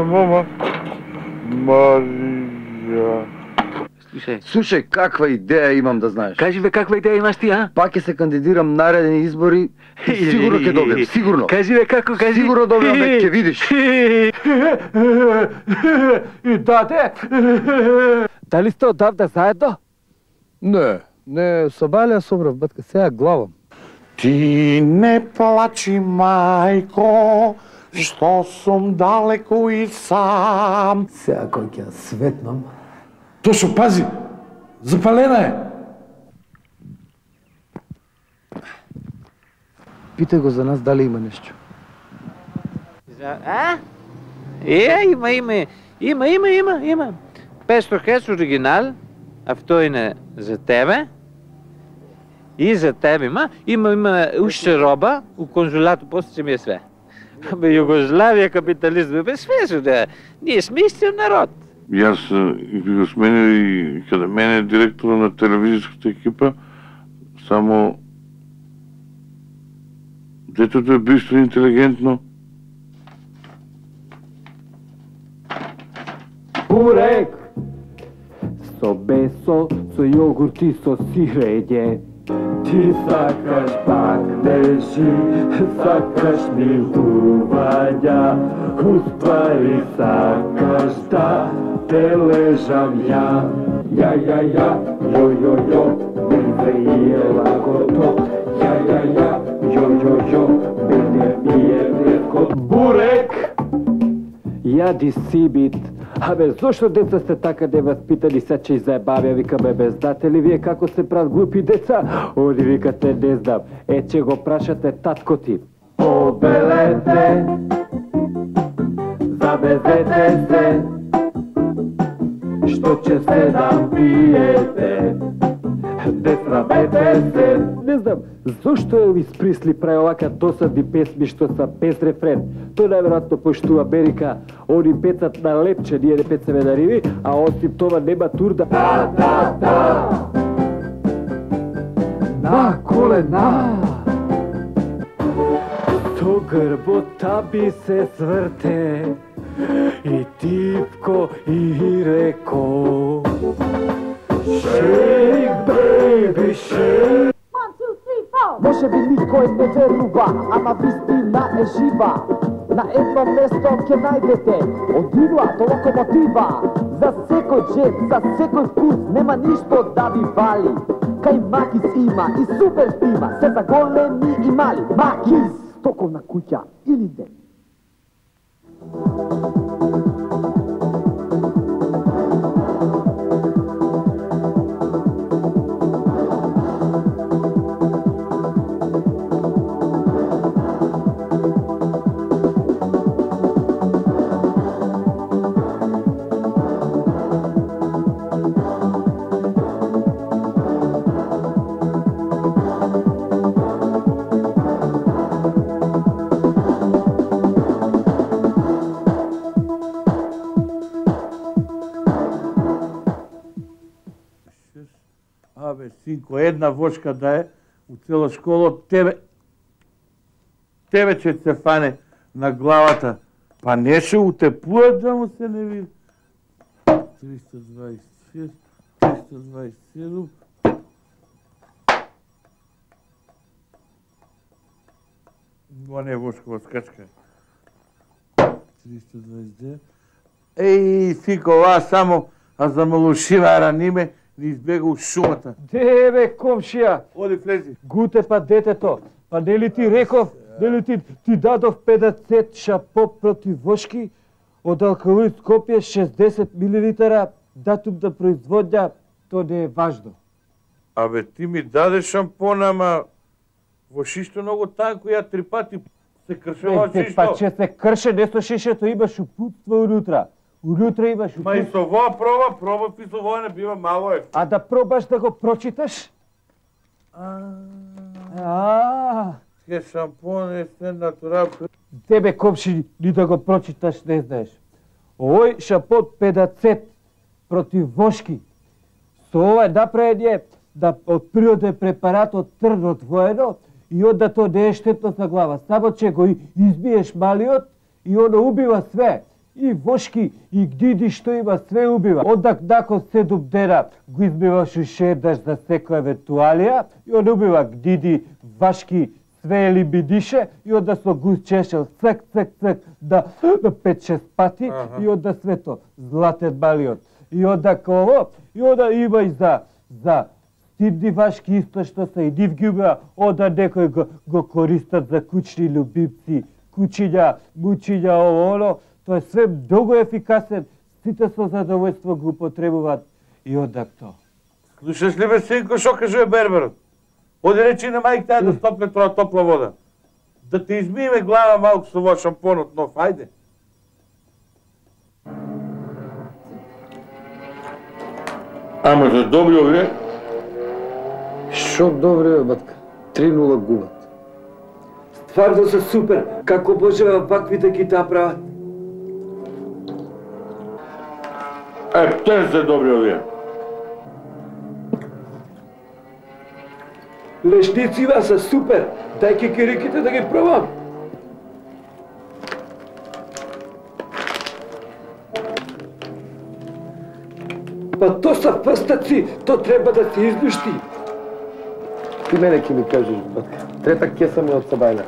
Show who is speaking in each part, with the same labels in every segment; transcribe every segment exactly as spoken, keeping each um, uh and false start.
Speaker 1: мама. Марија.
Speaker 2: Слушај.
Speaker 3: Слушај, каква идеја имам да знаеш.
Speaker 2: Кажи бе, каква идеја имаш ти, а?
Speaker 3: Пак ќе се кандидирам наредни избори и сигурно ќе добијам, сигурно.
Speaker 2: Кажи бе, како, кажи.
Speaker 3: Сигурно добијам, бе, ќе видиш.
Speaker 4: И даде. Дали сте одавда заедно?
Speaker 3: Не, не, со Балија собрав, батка, сега главам.
Speaker 1: Ти не плачи, мајко, што сум далеку и сам.
Speaker 3: Сега кој ќе светнам.
Speaker 1: Тошо, пази, запалена е.
Speaker 3: Питај го за нас дали има нешто.
Speaker 2: А? Е, има, има, има, има, има, има. петстотин херц оригинал, а втори не за тебе. И за тебе има. Има, има уште роба, у конзулату после че ми е све. Бе, Југославија, капитализм, бе, све се да. Ние сме истиот народ.
Speaker 1: Јас ги го сменил и каде мене директора на телевизиската екипа, само детето е бистро интелигентно.
Speaker 4: Бурек! Со бесо, со јогурт и со сирење. Ти сакаш пакнежи, сакаш милтувања, уствари сакаш да те лежам ја. Ја, ја, ја, јо, јо, јо, ми ми е лагото. Ја, ја, ја, јо, јо, јо, мене ми е ретко. Бурек! Јади сибит. Абе, зошто деца сте така неваспитани, се че и заебавија, викаме бездатели, вие како се прават глупи деца? Они викате, не знам, е, че го прашате татко ти. Побелете, забезете се, што ќе се да пиете, не срамете се. Не знам, зошто Елвис Присли прави овака досадни песми што са без рефрен? Тој најверојатно пошту Америка, они пецат на лепче, ние не пецаме на риви, а осим това нема турда. Да, да, да! На колена! То грбота би се сврте, и типко и реко. Shake, baby, shake.
Speaker 5: One, two, three, four.
Speaker 4: Може би никој не верува, ама вистина е жива. На едно место ќе најдете од игла до локомотива. За секој джеб, за секој вкус нема ништо да ви вали. Кај Макис има и супер има, се за големи и мали. Макис, стоковна куќа или не?
Speaker 1: Абе, синко, една вошка да е у цела школа, тебе... Тебе ќе се фане на главата. Па не ше утепуат да му се не види. триста дваесет и шест, триста дваесет и седум... Го не вошкова скачка. триста дваесет и девет... Еј, синко, ова само, а за малушива раниме, не избега у шумата.
Speaker 4: Де бе, комшија?
Speaker 1: Оди, влези.
Speaker 4: Гуте па детето. Па нели ти реков, нели ти, ти дадов педесет шапо против вошки, од алкалоид Скопје шесдесет милилитара, датум да производња, то не е важно.
Speaker 1: Абе, ти ми даде шампона, ама во шишто многу танко, ја три пати се кршева од шишто.
Speaker 4: Па че се крше, не со шишето имаш упутство унутра. Унутра имаш упутство.
Speaker 1: Ма и со воа проба, проба и со воа не бива мало е.
Speaker 4: А да пробаш да го прочиташ? А.
Speaker 1: Ке шампон е се натурал.
Speaker 4: Тебе, комши, ни да го прочиташ не знаеш. Овој шампон педесет против вошки. Со ова е направен да од природен препарат од трн одвоено и онда то не е штетно за глава. Само че го избиеш малиот и оно убива све. и вошки и гдиди што има све убива. Одак након седум дена го избиваш уште еднаш за секоја евентуалија и он убива гдиди, вашки, све елиминише и онда со гуз чешел цек, цек, цек да пет-шест пати и онда свето златен малиот. И онда ово, и онда има и за за стидни вашки исто што се и нив ги убива, онда некој го, го користат за кучни љубимци, кучиња, мучиња, ово, оно. Тоа е све многу ефикасен, сите со задоволство го употребуваат и онда тоа.
Speaker 1: Слушаш ли бе, синко, шо кажува берберот? Оди речи на мајката да стопле тоа топла вода. Да те измиеме глава малку со во шампонот нов, ајде. Ама за добри овие?
Speaker 3: Шо добри бе, батка? три нула губат.
Speaker 4: Стварно се супер, како можева вакви да ги направат.
Speaker 1: Е, те се добри овие.
Speaker 4: Лешницива се супер, дај кекериките да ги пробам. Па то са прстаци, то треба да се изнушти.
Speaker 3: Ти мене ке ми кажеш, батка. Трета кеса ми од Сабајле.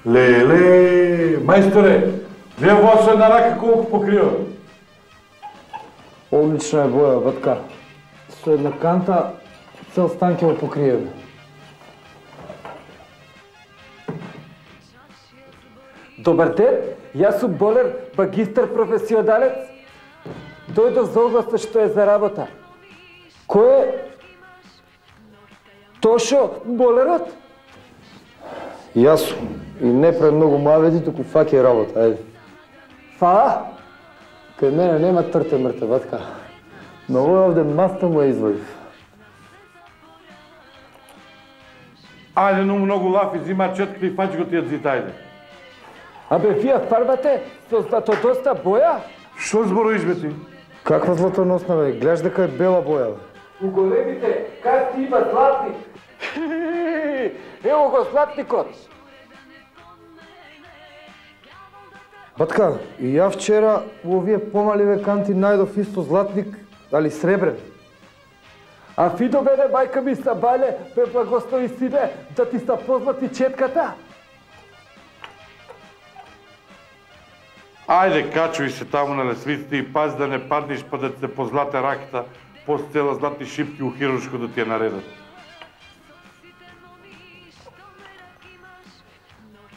Speaker 1: Леле, мајсторе, вие во со една рака колку покрива?
Speaker 3: Одлична е боја, батка. Со една канта цел стан ќе го покриеме.
Speaker 4: Добар ден, јас сум болер, магистар професионалец. Дојдов за огласта што е за работа. Кој е Тошо болерот?
Speaker 3: Јас сум. И не пред многу маведи, туку фаќај работа, ајде.
Speaker 4: Фала?
Speaker 3: Кај мене нема трте мрте, батка. Но овој овде маста му ја извадив.
Speaker 1: Ајде, но многу лафи, зима четкри и фаќ го тие дзит, ајде.
Speaker 4: Абе, вие фарбате со златодоста боја?
Speaker 1: Што зборуваш бе ти?
Speaker 3: Каква златоносна бе? Гледаш дека е бела боја, бе.
Speaker 4: У големите карти има златник. Ево го златникот.
Speaker 3: Батка, и ја вчера у овие помаливе канти најдов исто златник, али сребрен.
Speaker 4: А Фидо мене, мајка ми Сабајле, ме благослови сине, да ти са позлати четката.
Speaker 1: Ајде, качуј се таму на лесвиците и пази да не паднеш па да се позлате раката, после цела златни шипки у хируршко да ти ја наредат.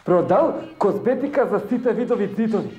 Speaker 4: Продал козметика за сите видови цитови.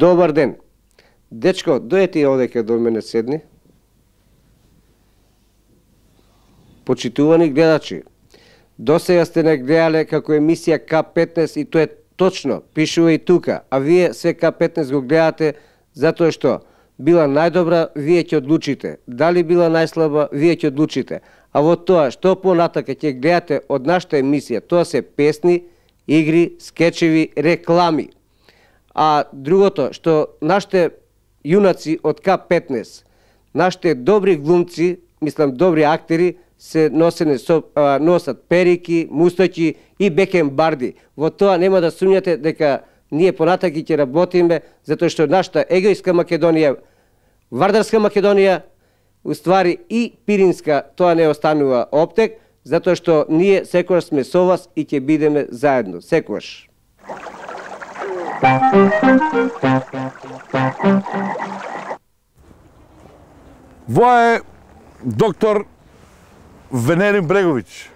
Speaker 5: Добар ден. Дечко, дојете овдека до мене седни. Почитувани гледачи, досега сте не гледале како емисија К петнаесет и тоа е точно, пишува и тука, а вие се К петнаесет го гледате затоа што била најдобра, вие ќе одлучите. Дали била најслаба, вие ќе одлучите. А во тоа што понатака ќе гледате од нашата емисија, тоа се песни, игри, скечеви, реклами. А другото, што нашите јунаци од К петнаесет, нашите добри глумци, мислам добри актери, се носене со, а, носат перики, мустаки и бекенбарди. Во тоа нема да сумњате дека ние понатаки ќе работиме, затоа што нашата егојска Македонија, Вардарска Македонија, уствари и Пиринска, тоа не останува оптек, затоа што ние секогаш сме со вас и ќе бидеме заедно, секогаш.
Speaker 1: Воа е доктор Венерин Бреговиќ.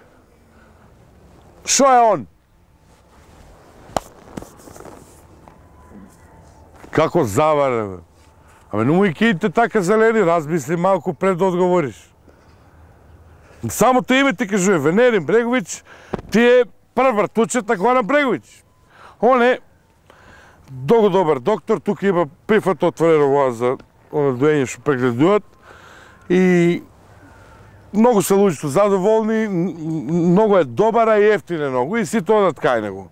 Speaker 1: Шо е он? Како заваре, бе? Абе, не му и киите така зелени, размисли малку пред да одговориш. Само те име ти кажуе, Венерин Бреговиќ, ти е прв вртучет на Горан Бреговиќ. Он е долго добар доктор, тука има прифат отворено воа за оно доење што прегледуваат и многу се луѓето задоволни, многу е добар, а и ефтин е многу и сите одат кај него.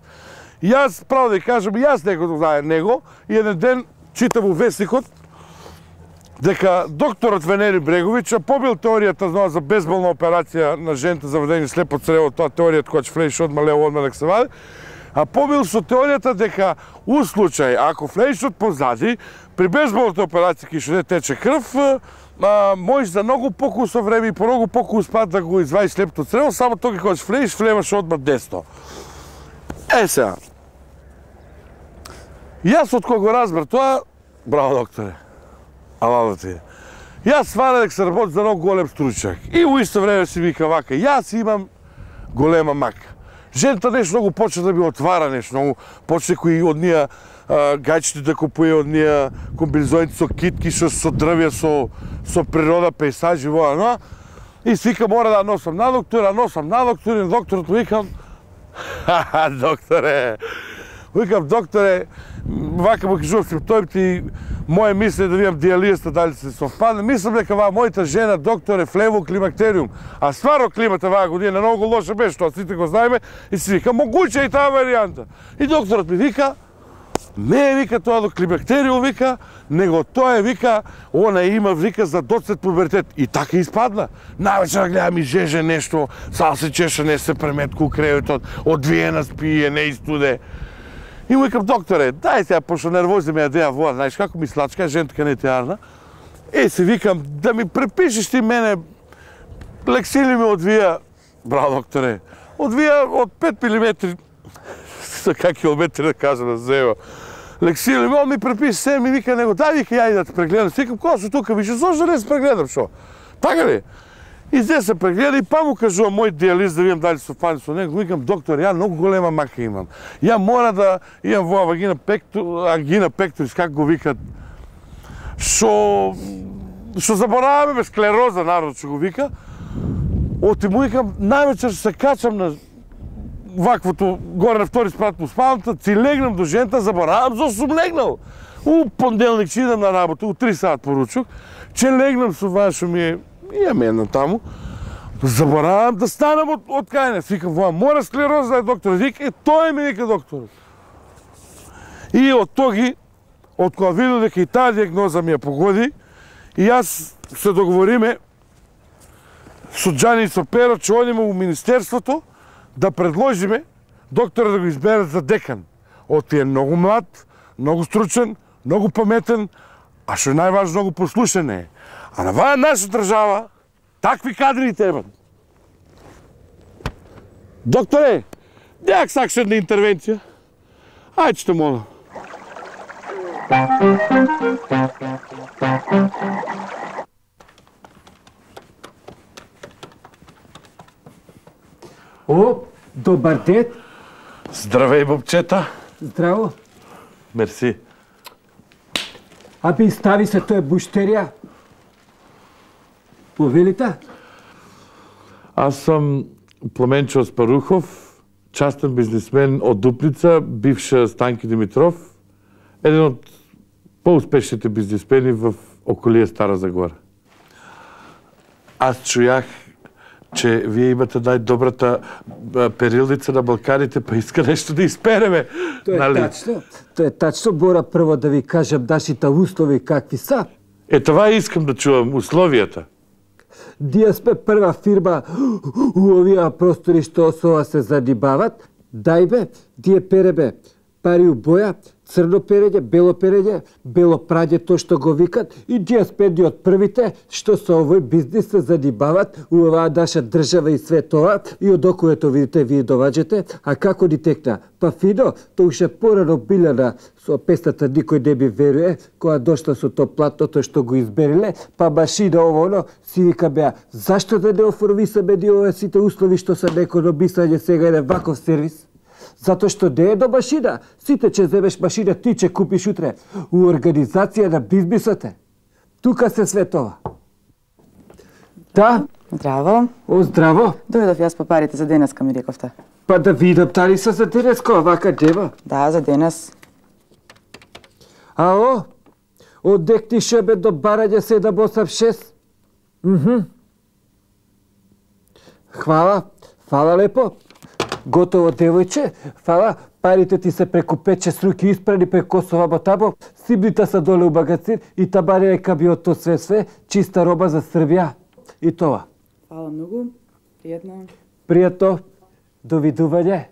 Speaker 1: Јас, право да кажам, јас некој знае него и еден ден читам у вестникот дека докторот Венерин Бреговиќ побил теоријата знao за безболна операција на жената за вадење слепо црево, тоа теоријата која ќе флеиш одма лево, одма нека се вади, а побил со теоријата дека у случај, ако флеиш од позади, при безболната операција ки што не тече крв, а, можеш за многу покусо време и по многу покус пат да го извадиш слепото црево, само токи кога флеиш, флеваш одма десно. Е сега, јас од кога го разбер тоа, браво докторе, ала да ти е. Јас свара дека се работи за многу голем стручак и у исто време си вика вака, јас имам голема мака. Жената нешто многу почне да би отвара нешто, многу почне кои од нија гајчите да купуе, од нија комбинезоните со китки, со, со дрвја, со, со природа, пейсажи, воа, но, и си вика мора да носам на доктор, а носам на доктор, и на докторот му викам, ха-ха, докторе, викам, докторе, вака му кажувам симптомите и моје мисли е да видам диализата дали се совпадне. Мислам дека ваа мојата жена доктор е влево климактериум, а стварно климата ваа година многу лоша беше, тоа сите го знаеме и си вика, могуче и таа варијанта. И докторот ми вика, не е вика тоа до климактериум вика, него тоа е вика, она има вика за доцет пубертет. И така испадна. Навечер гледам и жеже нешто, сам се чеша, не се преметку у креветот, одвиена спие, не истуде. И му викам, докторе, дај сега, пошто нервози ме јадеа воа, знаеш како ми слачка, жентка не теарна. Е, се викам, да ми препишеш ти мене, лексили ми одвија, браво докторе, одвија од пет милиметри, за как километри да кажа да зева. Лексили ми, он ми препише се, ми вика него, дај вика ја и да те прегледам. Се викам, кога су тука, више, зошто да не се прегледам, шо? Така ли? И зде се прегледа и па му кажувам мој диализ да видам дали совпади со него. Викам, доктор, ја многу голема мака имам. Ја мора да имам воа вагина пекту, ангина пекторис, как го викат. Шо шо забораваме бе склероза, народ што го вика. Оти му викам, највечер се качам на ваквото горе на втори спрат му спалната, си легнам до жената, заборавам зашто сум легнал. У понеделник ќе идам на работа, у три сат поручок, че легнам со вашо ми е имам една таму, заборавам да станам од, од кајне. Викам, воа, мора склероза да е доктор. Вика, е, тој ми вика докторот. И од тоги, од кога видов дека и таа диагноза ми ја погоди, и јас се договориме со Џани и со Перо, че одиме у Министерството да предложиме доктора да го изберат за декан. Оти е многу млад, многу стручен, многу паметен, а што е најважно, многу послушен е. А на ваа наша држава, такви кадри требат. Докторе, дјак сакаш една интервенција? Ајде, те молам.
Speaker 4: О, добар ден.
Speaker 1: Здравеј, бобчета.
Speaker 4: Здраво.
Speaker 1: Мерси.
Speaker 4: Абе, стави се, тоа е буштерија. Повелите?
Speaker 1: Аз сум Пламенчо Аспарухов, частен бизнисмен од Дупница, бивша Станки Димитров, еден од поуспешните бизнисмени в околие Стара Загора. Аз чујах, че вие имате најдобрата перилница на Балканите, па иска нешто да испереме.
Speaker 4: Тоа е
Speaker 1: нали?
Speaker 4: тачно. Тоа е тачно. Бора прво да ви кажам нашите услови какви са.
Speaker 1: Е, това искам да чувам, условијата.
Speaker 4: Ние сме прва фирма у овие простори што со се занимават. Дај бе, ние переме пари у боја, црно перење, бело перење, бело прање, тоа што го викат, и ние сме едни од првите што со овој бизнис се занимават у оваа наша држава и све тоа, и од околето видите вие доваѓате, а како ни текна? Па фино, тоа уште порано Билјана со песната никој не ми веруе, која дошла со тоа платното што го избериле, па машина ово оно, си вика беа, зашто да не оформисаме ни овие сите услови што се некономисање сега еден ваков сервис? Затоа што не е до машина. Сите ќе земеш машина, ти ќе купиш утре. У организација на бизнисот е. Тука се све тоа. Да?
Speaker 6: Здраво.
Speaker 4: О, здраво.
Speaker 6: Дојдов јас по парите за денеска, ми рековте.
Speaker 4: Па да видам дали се за денеска, вака дева.
Speaker 6: Да, за денес.
Speaker 4: Ало? Од дек ти шебе до барање седам осам шест. Мхм. Хвала. Фала лепо. Готово, девојче. Фала. Парите ти се преку пет-шест руки испрани преку Косова ботабо. Сибните са доле у магазин и табаре е кабиото све све. Чиста роба за Србија. И тоа.
Speaker 6: Фала многу. Пријатно.
Speaker 4: Пријатно. Довидување.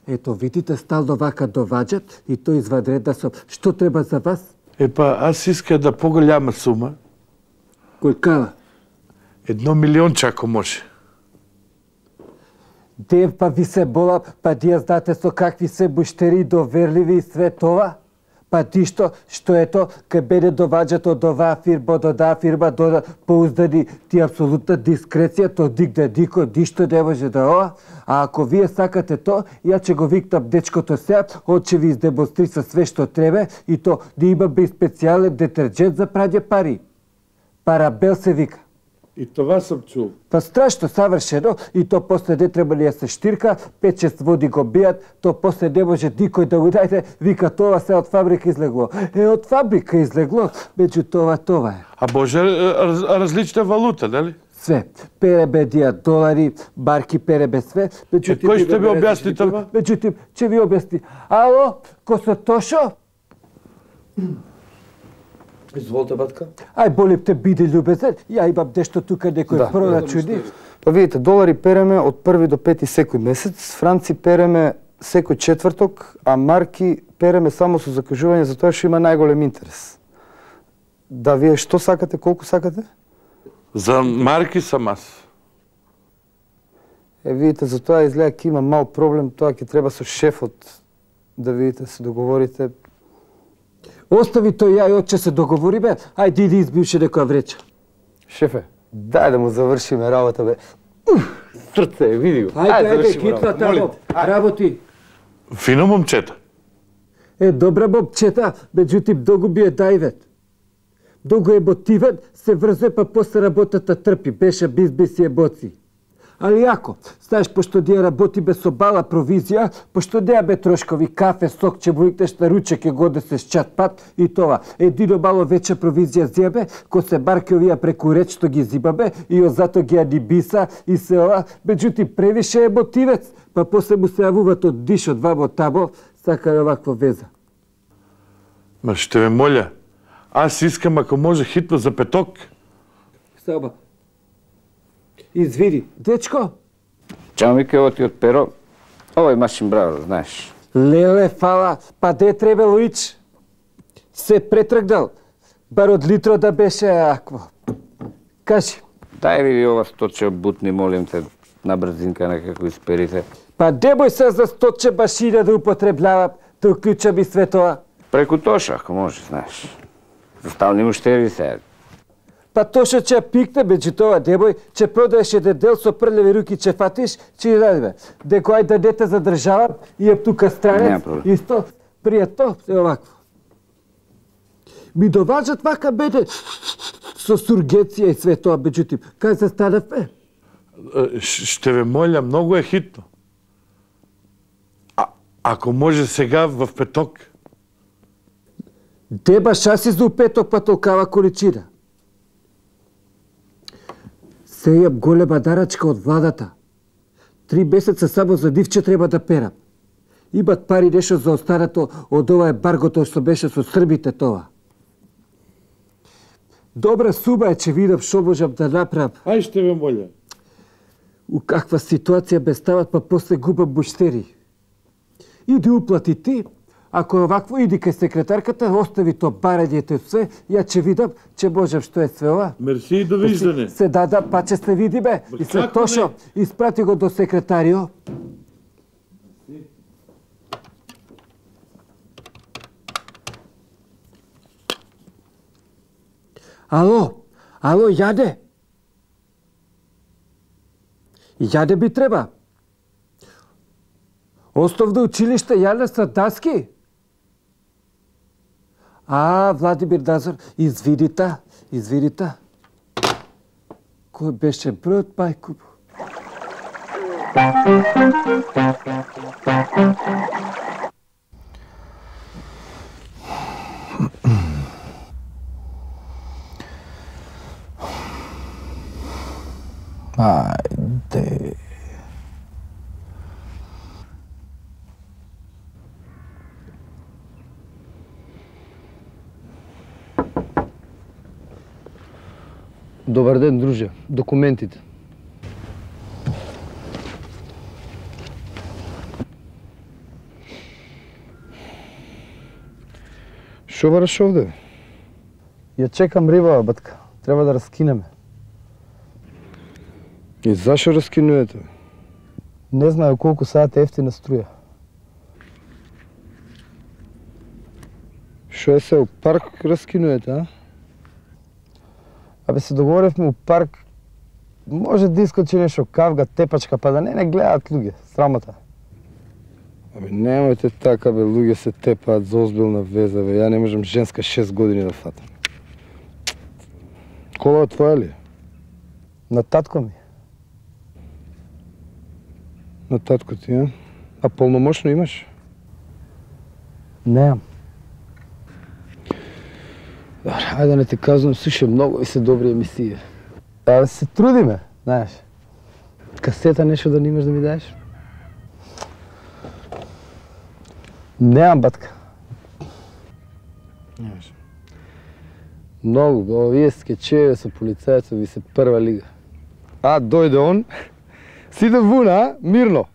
Speaker 4: Ето, видите, стално вака доваѓат и тој извадредна со што треба за вас?
Speaker 1: Епа, аз иска да поголяма сума.
Speaker 4: Кој кава?
Speaker 1: Едно милионче, ако може.
Speaker 4: Дев, па ви се бола, па дија знаете со какви се буштери доверливи и све тоа? Па ти што, што ето, кај мене доваѓат од оваа фирма, од оваа фирма, до поуздани, ти апсолутна дискреција, то нигде никој ништо не може да ова. А ако вие сакате то, ја ќе го викнам дечкото сега, он ќе ви издемонстриса све што треба и то да имаме и специјален детерџент за прање пари. Парабел се вика.
Speaker 1: И това сам чул.
Speaker 4: Па страшно савршено и то после не треба ли ја се штирка, пет-шест води го бијат, то после не може никој да го дајте, вика тоа се од фабрика излегло. Е, од фабрика излегло, меѓу това това е.
Speaker 1: А може раз, различна валута, нели?
Speaker 4: Све. Перебе дија долари, марки перебе све.
Speaker 1: Меѓутим, кој ќе ви објасни това?
Speaker 4: Меѓутим, ќе ви објасни. Ало, Косо Тошо?
Speaker 3: Изволте, батка.
Speaker 4: Ај, болим те, биди љубезен, ја имам нешто тука некој
Speaker 3: Да.
Speaker 4: прорачуни.
Speaker 3: Па видите, долари переме од први до пети секој месец, франци переме секој четврток, а марки переме само со закажување за тоа што има најголем интерес. Да, вие што сакате, колку сакате?
Speaker 1: За марки сам аз.
Speaker 3: Е, видите, за тоа изгледа ќе има мал проблем, тоа ќе треба со шефот да видите, се договорите.
Speaker 4: Остави тој ја и отче се договориме, ајде иди избивше некоја вреча.
Speaker 3: Шефе, дај да му завршиме работа, бе. Уф, срце, види го.
Speaker 4: Ајде, ајде,
Speaker 3: завршиме
Speaker 4: хитна
Speaker 3: работа, молим
Speaker 4: тамо,
Speaker 3: те. Ајде.
Speaker 4: работи.
Speaker 1: Фино момчета.
Speaker 4: Е, добра момчета, меѓутим, многу ми е наивен. Многу емотивен, се врзе, па после работата трпи, беше бизнес и емоции. Али ако, знаеш, пошто ние работиме со бала провизија, пошто неаме трошкови кафе, сок, ќе му викнеш на ручек ќе го да се чат пат и тоа. Едино мало вече провизија зијаме, ко се марки овија преку реч што ги зимаме и зато ги анибиса и се ова, меѓутим превише емотивец, па после му се јавуваат од дишот вамо тамо, сака оваква веза.
Speaker 1: Ма ще ме моля, аз искам ако може хитно за петок.
Speaker 4: Саба. Извини, дечко,
Speaker 2: Чао, Мике, ово ти од перо. Ово е машин браво, знаеш.
Speaker 4: леле, фала, па де требало ич? Се претргнал, бар од литро да беше акво. Кажи,
Speaker 2: Дај ви ова сточе бутни, молим те, на брзинка некако исперите.
Speaker 4: па немој се за сточе машина да употребljавам, да уклучам и све тоа.
Speaker 2: Преку Тоша, ако може, знаеш. За стални муштери се.
Speaker 4: Па Тошо ќе ја пикне, меѓу тоа, немој, ќе продаеш еден дел со прљави руки, ќе фатиш, ќе ја дадеме. Деко ајде да не те задржавам, и е тука
Speaker 2: Нема
Speaker 4: странец,
Speaker 2: проблем.
Speaker 4: исто, пријатно, е овакво.
Speaker 5: Ми доважат вака беде со сургеција и све тоа, меѓутоа, кај се станавме?
Speaker 1: Ще ве моля, многу е хитно. А, ако може сега в петок?
Speaker 5: Деба шаси за петок па толкава количина. Се јаб голема дарачка од владата. Три месеца само за нивче треба да перам. Имат пари нешто за останато од ова ембаргото што беше со србите тоа. Добра сума е, че видам што можам да направам.
Speaker 1: Ај ще ве моля.
Speaker 5: У каква ситуација ме стават, па после губам буштери. Иди уплати ти, ако е овакво, иди кај секретарката, остави то барањето и све, ја че видам, че можам што е све ова.
Speaker 1: Мерси и довиждане.
Speaker 5: Се дада, па че се видиме. И след тошо, испрати го до секретарио. Ало, ало, Јаде. Јаде би треба. Основно училиште Јана Садаски. А, Владимир Назор, извинита, извинита. Кој беше бројот, мајко?
Speaker 3: Ајде.
Speaker 7: Добар ден, друже. Документите. Шо бараш овде?
Speaker 3: Ја чекам рибава, батка. Треба да раскинеме.
Speaker 7: И зашо раскинувате?
Speaker 3: Не знаю колку саат е ефтина струја.
Speaker 7: Шо е се, у парк раскинувате, а?
Speaker 3: Абе се договоривме у парк, може да искочи нешто кавга, тепачка, па да не не гледаат луѓе, срамота.
Speaker 7: Абе немојте така, бе, луѓе се тепаат за озбилна веза, бе, ја не можам женска шест години да фатам. Кола твоја ли?
Speaker 3: На татко ми.
Speaker 7: На татко ти, а? А полномошно имаш?
Speaker 3: Неам.
Speaker 7: Добре, ајде да не те казвам, слушай, многу и се добри емисии.
Speaker 3: Абе се трудиме, знаеш.
Speaker 7: Касета нешто да не имаш да ми даеш?
Speaker 3: Неам, батка.
Speaker 7: Немаш. Многу, бе, овие скечеве со полицајецот ви се прва лига.
Speaker 3: А, дојде он, сиде вуна, а? Мирно.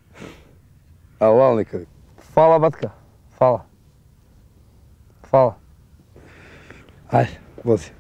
Speaker 7: А лал некаде.
Speaker 3: Фала, батка, фала. Фала.
Speaker 7: Ајде, вози.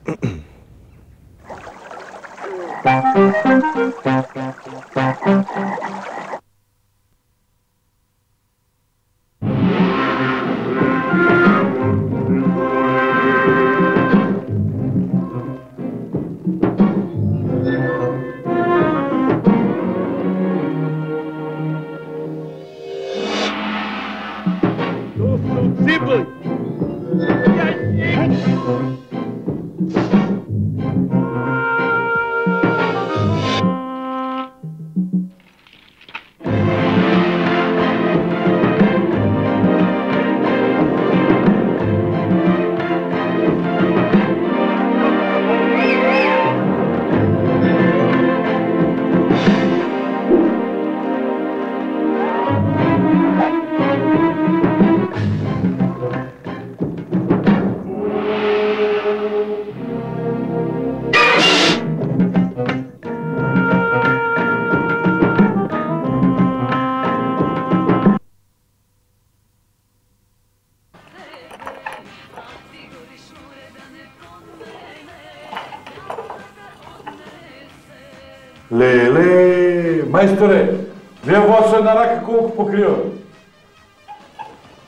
Speaker 1: Леле, мајсторе, вие во со една рака колку покрива?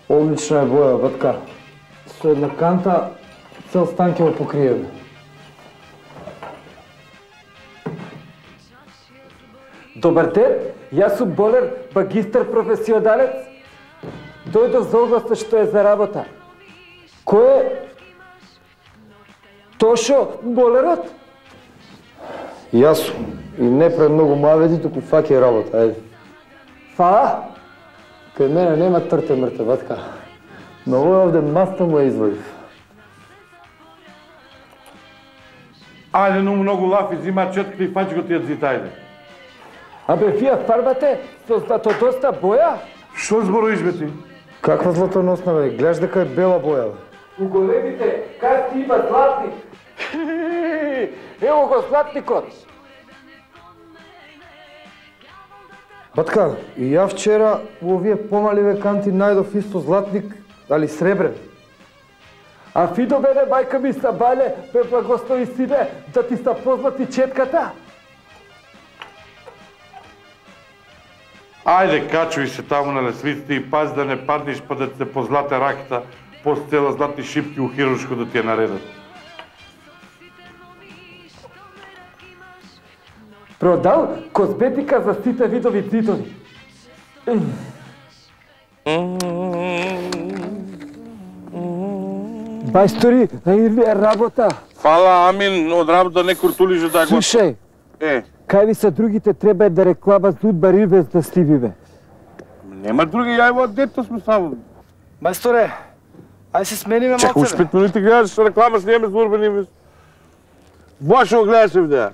Speaker 3: Одлична е боја, батка. Со една канта цел стан ќе го покриеме.
Speaker 5: Добар ден, јас сум болер, магистар професионалец. Дојдов за огласно што е за работа. Кој е?
Speaker 4: Тошо, болерот?
Speaker 7: Јас сум. И не пред многу мавети, туку фаќај работа, ајде.
Speaker 4: Фа?
Speaker 7: Кај мене нема трте мрте, ватка. Но овој овде маста му ја извадив.
Speaker 1: Ајде, но многу лафи, зима четката и фаќ го тие зита, ајде.
Speaker 4: Абе, вие фарбате со златодоста боја?
Speaker 1: Што зборуваш, бе ти?
Speaker 7: Каква златоносна, бе? Гледаш дека е бела боја, бе.
Speaker 4: У големите карти има златник. Ево го златникот.
Speaker 7: Батка, и ја вчера у овие помаливе канти најдов исто златник, али сребрен.
Speaker 4: А Фидо мене мајка ми са бале, бе благослови сине, да ти са позлати четката.
Speaker 1: Ајде, качуј се таму на лесвиците и пази да не паднеш па да ти се позлате раката, после цела златни шипки у хируршко да ти ја наредат.
Speaker 4: Продал козметика за сите видови зидови. Бајстори, или е работа?
Speaker 1: Фала, амин, од работа не куртулиш да го...
Speaker 4: Слушај,
Speaker 1: Е,
Speaker 4: кај ви са другите треба да реклама Зудба Ривес да стиви, бе.
Speaker 1: нема други, ја во дето сме само.
Speaker 7: Мајсторе, ај се смениме
Speaker 1: Чекай, уш
Speaker 7: малце,
Speaker 1: пет минути гледаш реклама, сниеме за Урбан Инвест. Ваше го гледаш видеа.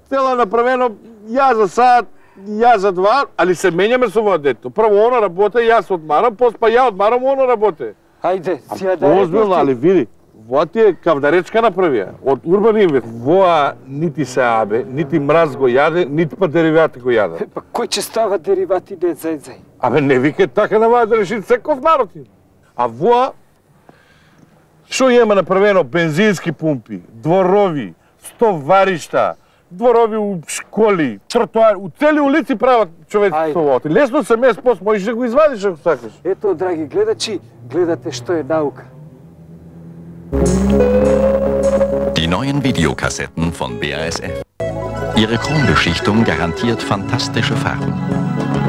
Speaker 1: Цела направено, ја за сад, ја за два, али се менјаме со во дето. Прво оно работе, јас одмарам, после па ја одмарам, оно работе.
Speaker 4: Ајде, сија да
Speaker 1: Озбилно, али види, во ти е кавдаречка направија, од Урбан Инвест. Воа нити се абе, нити мраз го јаде, нити па деривати го јаде.
Speaker 4: Па кој ќе става деривати не зајзај?
Speaker 1: Абе, не викај така на да реши секов народ. А воа, што има направено бензински пумпи, дворови, стоваришта, дворови у школи, тротоари, у цели улици прават човеци со воти. Лесно се мес пост, можеш да го извадиш ако сакаш.
Speaker 4: Ето, драги гледачи, гледате што е наука.
Speaker 8: Die neuen Videokassetten von B A S F. Ihre Chrombeschichtung garantiert fantastische Farben.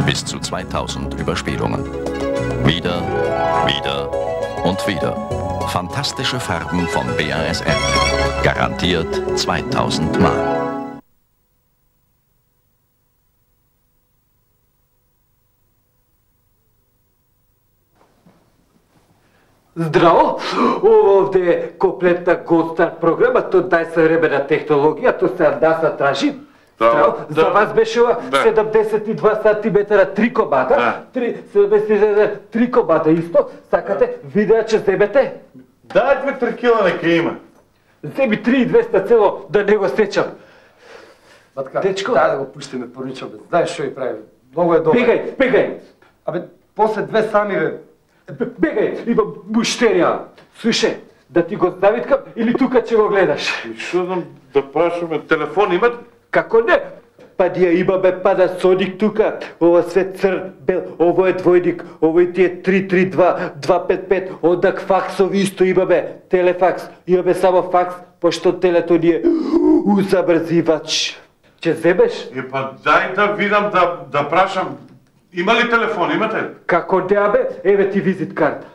Speaker 8: Bis zu zweitausend Überspielungen. Wieder, wieder und wieder. Fantastische Farben von B A S F. Garantiert zweitausend Mal.
Speaker 4: Здраво! Ова овде е комплетна Голдстар програма, тоа најсовремена технологија, тоа се Андаса тражи. Здраво!
Speaker 1: да.
Speaker 4: За вас беше ова
Speaker 1: Да.
Speaker 4: седумдесет и два сантиметра три комада,
Speaker 1: Да.
Speaker 4: три, седумдесет и два три комада исто, сакате видеа ќе земете?
Speaker 1: Дај две три кила нека има.
Speaker 4: Земи три и двеста цело да не го сечам.
Speaker 7: Батка,
Speaker 4: Дечко.
Speaker 7: дај да го пуштиме поричо, бе. Знаеш што и прави? Многу е добро.
Speaker 4: Бегај, бегај!
Speaker 7: Абе, после две сами, бе.
Speaker 4: Бегај, имам муштерија. Слушај, да ти го завиткам или тука ќе го гледаш?
Speaker 1: Што знам да прашаме, телефон имат?
Speaker 4: Како не? Па ние имаме Panasonic тука, ова све црн, бел, ово е двојник, ово ти е три три два два пет пет, одак факсови исто имаме, телефакс, имаме само факс, пошто телето ни е узабрзивач. Ќе земеш?
Speaker 1: Е, па дај да видам, да, да прашам. Има ли телефон, имате ли?
Speaker 4: Како не абе, еве ти визит карта.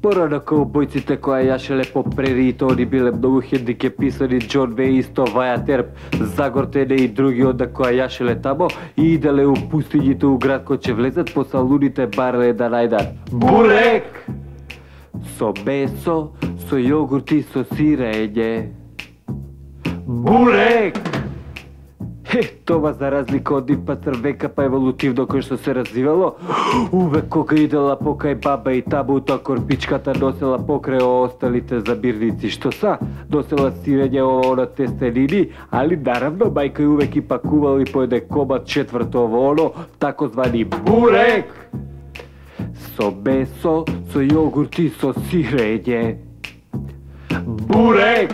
Speaker 4: Порано каубојците која јашеле по прериите, они биле многу хендикеписани, Џон Веј исто Ваја Терп, Загортене и други онда која јашеле тамо и иделе у пустињите у град кој ќе влезат по салуните бареле да најдат бурек со месо, со јогурт и со сирење. Бурек! Е, тоа за разлика од Ипа Црвека па еволутивно кој што се развивало, увек кога идела покај баба и табу, тоа корпичката носела покрај осталите забирници, што са, носела сирење ово на тестенини, али наравно мајка и увек и пакувала и поеде комат четврто ово оно, такозвани бурек! Со месо, со јогурт и со сирење. Бурек!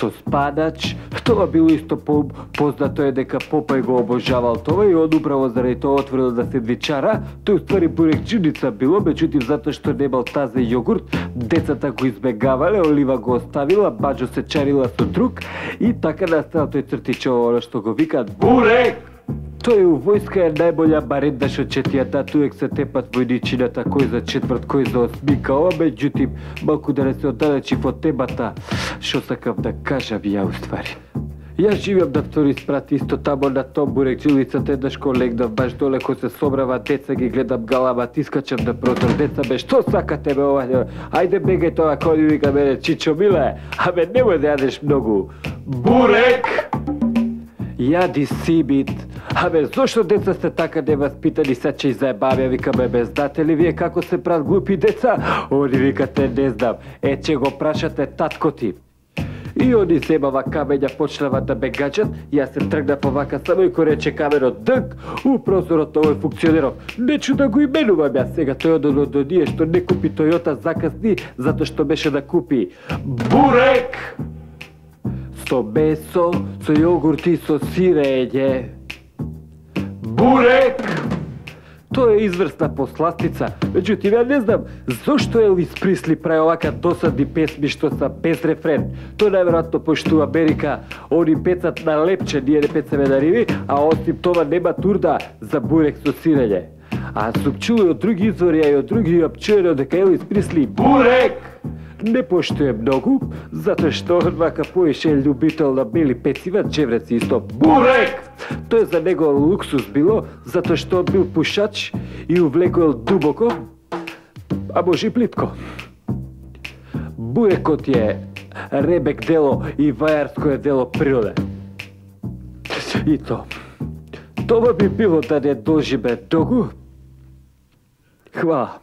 Speaker 4: со спадач. Тоа било исто по познато е дека Попај го обожавал тоа и он управо заради тоа отворил да се двичара. Тој уствари бурекчиница било, меѓутоа затоа што немал тазе јогурт, децата го избегавале, Олива го оставила, Баџо се чарила со друг и така настава тој цртичево оно што го викаат бурек. Тој у војска е најболја барендаш од четијата, туек се тепат војничината, кој за четврт, кој за осмика, ова меѓутим, малку да не се оддалечив од темата, што сакав да кажам ја уствари. Јас живеам на втори спрат исто тамо на том бурекчилицата, еднаш ко легнав баш доле ко се собрава деца, ги гледам галамат, искачам на прозор, деца бе, што сакате бе ова? Ајде бегај тоа, кој вика мене, Чичо миле, абе немој да јадеш многу. Бурек! Јади сибит. Абе, зошто деца сте така неваспитани, се че и заебавја, викаме, бе, знате ли вие како се прават глупи деца? Они викате, не знам, е, че го прашате татко ти. И они земава камења, почнава да ме гаđат, јас се тргнав овака само и кој рече каменот дък, у прозорот овој функционеров. Нечу да го именувам јас сега, тој одно до ние што не купи Тојота закасни, затоа што беше да купи бурек! Со месо, со јогурт и со сирење. Бурек! Тоа е изврсна посластица. Меѓутоа, ја не знам зошто Елвис Присли прави овака досадни песми што са без рефрен. Тоа најверојатно пошто Америка они пецат на лепче, ние не пецаме на риви, а осим тоа нема турда за бурек со сирење. А сум чуo од други извори, а и од други апчуено дека Елвис Присли бурек не поштуе многу, затоа што он вака поише љубител на бели пецива, джевреци исто бурек! Тоа за него луксус било, затоа што он бил пушач и увлекол дубоко, а може и плитко. Бурекот е ребек дело и вајарско е дело природе. И то. Тоа би било да не доживе многу. Хвала.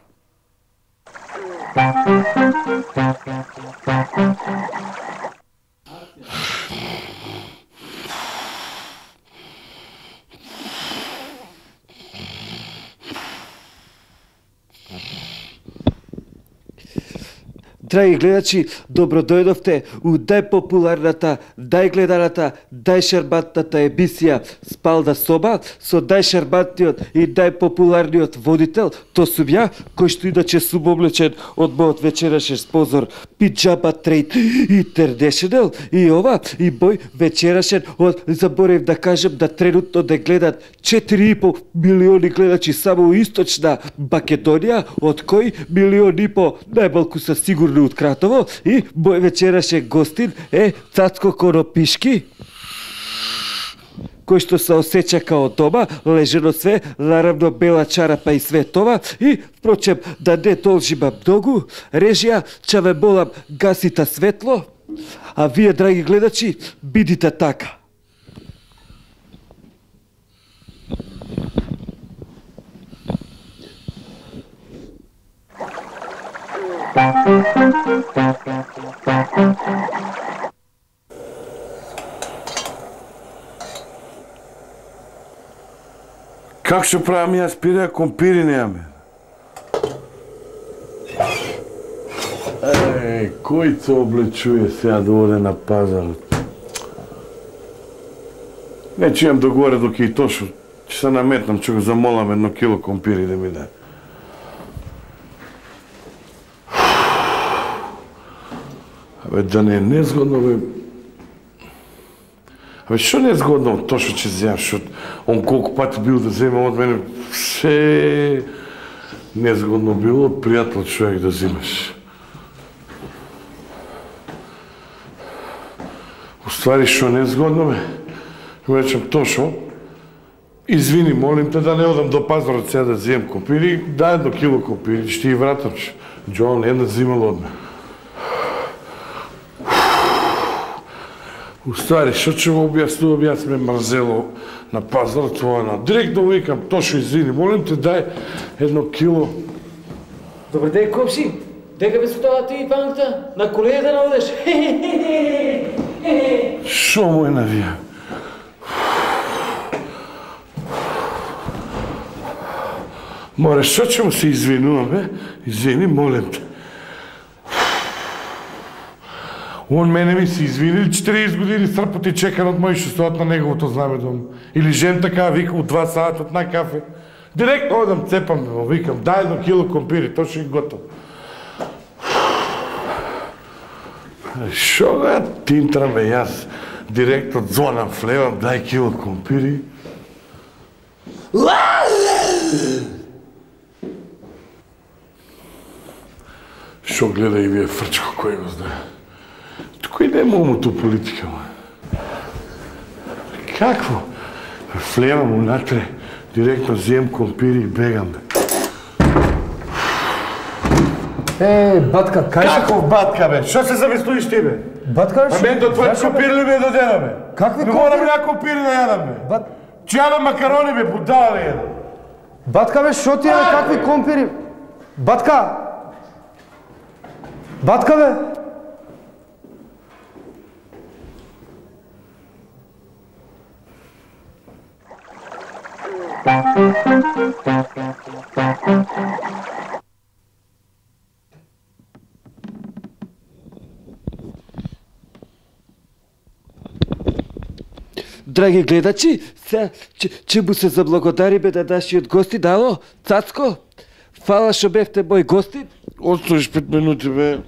Speaker 5: Драги гледачи, добро дојдовте у најпопуларната, најгледаната, најшармантната емисија Спална соба со најшармантниот и најпопуларниот водител, то сум ја, кој што иначе сум облечен од мојот вечерашен спонзор Пиджама Трейд Интернешнл и ова и мој вечерашен од, заборев да кажем, да тренутно да гледат четири и по милиони гледачи само у Источна Македонија, од кој милион и по најмалку са сигурно од Кратово, и мој вечерашен гостин е Цацко Конопишки, кој што се осеќа као дома, лежено све, наравно бела чарапа и све това, и, впрочем, да не должима многу, режија, ќе ве молам, гасите светло, а вие, драги гледачи, бидите така.
Speaker 1: Как што правам јас пире, компири немаме? Еј, кој се облечуе сега да оде на пазарот? Не чујам догоре доки и Тошо, ќе се наметнам, ќе го замолам едно кило компири да ми даде. Абе, да не е незгодно, бе. Абе, што не е згодно од Тошо ќе земам, што он колку пати бил да земам од мене, се незгодно било од пријател човек да земаш. Уствари, што не е згодно, бе, му речем, Тошо, извини, молим те да не одам до пазарот сега да земам компири, дај едно кило компири, ќе ти ги вратам, Джон една земал од мене. Уствари, што ќе го објаснувам, јас ме мрзело на пазар, тоа на директно викам, Тошо, извини, молим те, дај едно кило.
Speaker 9: Добар ден, комши, дека бе со тоа ти банката, на колеја да наодеш?
Speaker 1: Шо му е навија? Море, што ќе му се извинувам, бе? Извини, молим те. Он мене ми се извини, четиридесет години српоти чекан од мој што стоат на неговото знаме дом. Или жен така вика од два сата од на кафе. Директно одам, цепам, викам, дај едно кило компири, тоа што е готово. Шо га тинтрам бе јас, директно звонам флевам, дај кило компири. Шо гледа и вие фрчко кој го знае. Кој не му ту политика, ма? Какво? Флевам унатре, директно зем компири и бегам, бе.
Speaker 3: Е, батка, кај што...
Speaker 1: Каков батка, бе? Шо се замислуиш ти, бе?
Speaker 3: Батка,
Speaker 1: А мен до твој компири ли ме додена, бе?
Speaker 3: Какви
Speaker 1: компири? Морам ја компири да јадам, бе.
Speaker 3: Бат...
Speaker 1: Че јадам макарони, бе, будала, бе, јадам.
Speaker 3: Батка, бе, шо ти е, бе, какви компири? Батка! Батка, бе!
Speaker 5: Драги гледачи, се, че, че му се заблагодари бе да нашиот гости, дало, Цацко, фала што бевте мој гости.
Speaker 1: Остоиш пет минути, бе.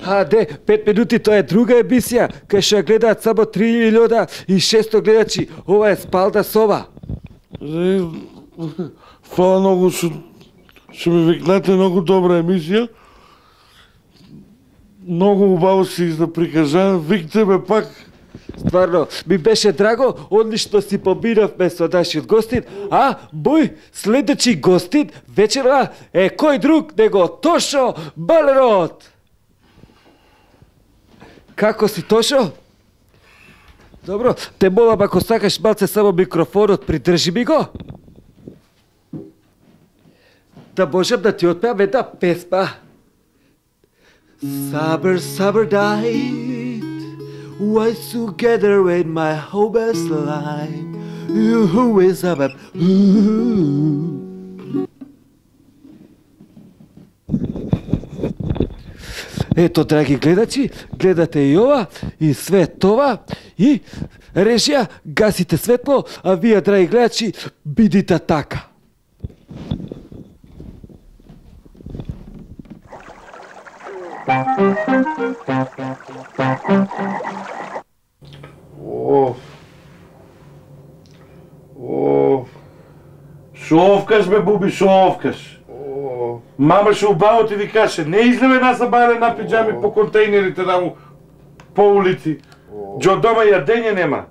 Speaker 5: А, де, пет минути, тоа е друга емисија, кај што ја гледаат само три милиона и шесто гледачи. Ова е Спалда соба.
Speaker 1: Фала многу што што ми викнате, многу добра емисија. Многу убаво си изда викте ме пак.
Speaker 5: Стварно, ми беше драго, одлично си поминавме со нашиот гостин, а мој следечи гостин вечера е кој друг него Тошо Балерот. Како си, Тошо? Добро, те молам ако сакаш малце само микрофонот, придржи ми го. Да можам да ти отпеам една песма. Summer, summer night, was together with my hopeless life. Who is up? Ето, драги гледачи, гледате и ова, и све това, и режија, гасите светло, а вие, драги гледачи, бидите така.
Speaker 1: Оф. Оф. Шо овкаш, бе, Буби, шо овкаш? Мама шо убаво ти ви каже, не излеме нас бајле на пиджами по контейнерите таму, по улици. Джо дома јадење нема.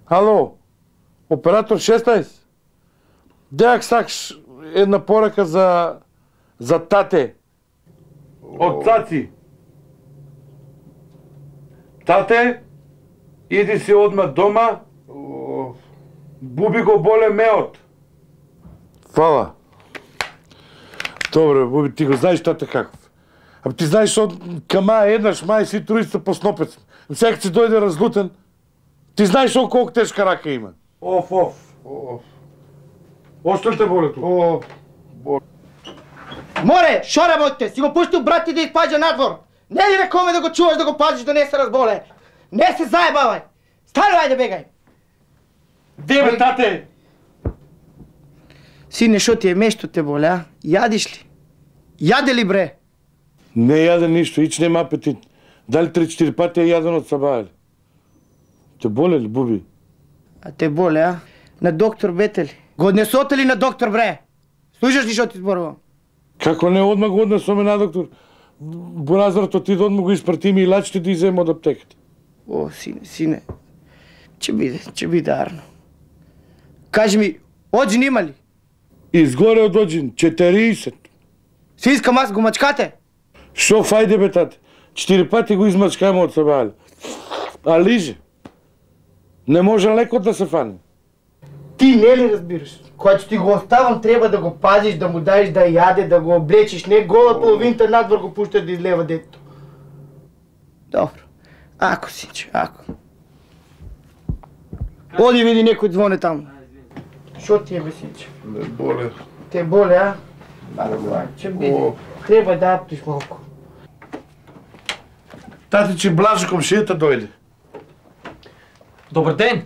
Speaker 1: Ало, оператор шеснаесет. Деак сакаш една порака за за тате. Од Цаци. Тате, иди си одма дома. Буби го боле меот. Фала. Добре, Буби, ти го знаеш тате каков. А ти знаеш што кама еднаш мај си туриста по снопец. Сега си дојде разлутен. Ти знаеш што колку тешка рака има. Оф, оф. Оф. Ошто ли те боле тука? Оф.
Speaker 10: Море, шо работите? Си го пуштил брат ти да испаѓа надвор. Не ли рекоме да го чуваш, да го пазиш, да не се разболе? Не се заебавај! Стани, ајде бегај!
Speaker 1: Де бе, тате?
Speaker 10: Сине, шо ти е мешто те боле, а? Јадиш ли? Јаде ли, бре?
Speaker 1: Не јаде ништо, ич нема апетит. Дали три-четири пати е јаден од сабајали. Те боле ли, Буби?
Speaker 10: А те боле, а? На доктор бете ли? Го однесоте ли на доктор, бре? Слушаш ли шо ти зборувам?
Speaker 1: Како не одма го однесоме на доктор? Буразарто ти да одма го испрати ми и лачите да изема од аптеката.
Speaker 10: О, сине, сине. Ќе биде, ќе биде арно. Кажи ми, оджин има ли?
Speaker 1: Изгоре од оджин, четириесет.
Speaker 10: Си искам аз го мачкате?
Speaker 1: Шо фајде бе, тате? Четири пати го измачкаме од сабајали. А лиже. Не може лекот да се фане.
Speaker 10: Ти не ли разбираш? Когато ти го оставам, треба да го пазиш, да му даеш да яде, да го облечиш, не гола половинта надвор го пушташ да излева детето. Добро. Ако, синче, ако. Оди види некој звоне таму. Шо ти е, бе, синче?
Speaker 1: Не боле.
Speaker 10: Те боле, а? Бара го, ајде, че биде. Треба да аптиш малку.
Speaker 1: Татичи Блажо комшијата дојде.
Speaker 9: Добар ден.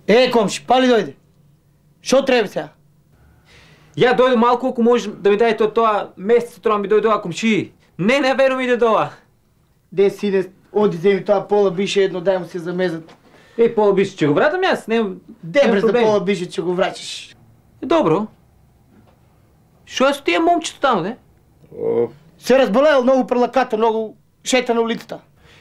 Speaker 10: Е, комши, пали дојде? Шо треба сега?
Speaker 9: Ја дојде малку, ако може да ми дадете од тоа месец, тоа ми дојде ова комши. Не, не верувам иде доа.
Speaker 10: Де си иде, оди земи тоа пола бише едно, дај му се замезат.
Speaker 9: Е, пола бише, ќе го вратам јас, нема
Speaker 10: Дебре за пола бише, ќе го врачиш.
Speaker 9: Добро. Шо е со тие момчето таму, де?
Speaker 10: Се разболел, многу прелакато, многу шета на улицата.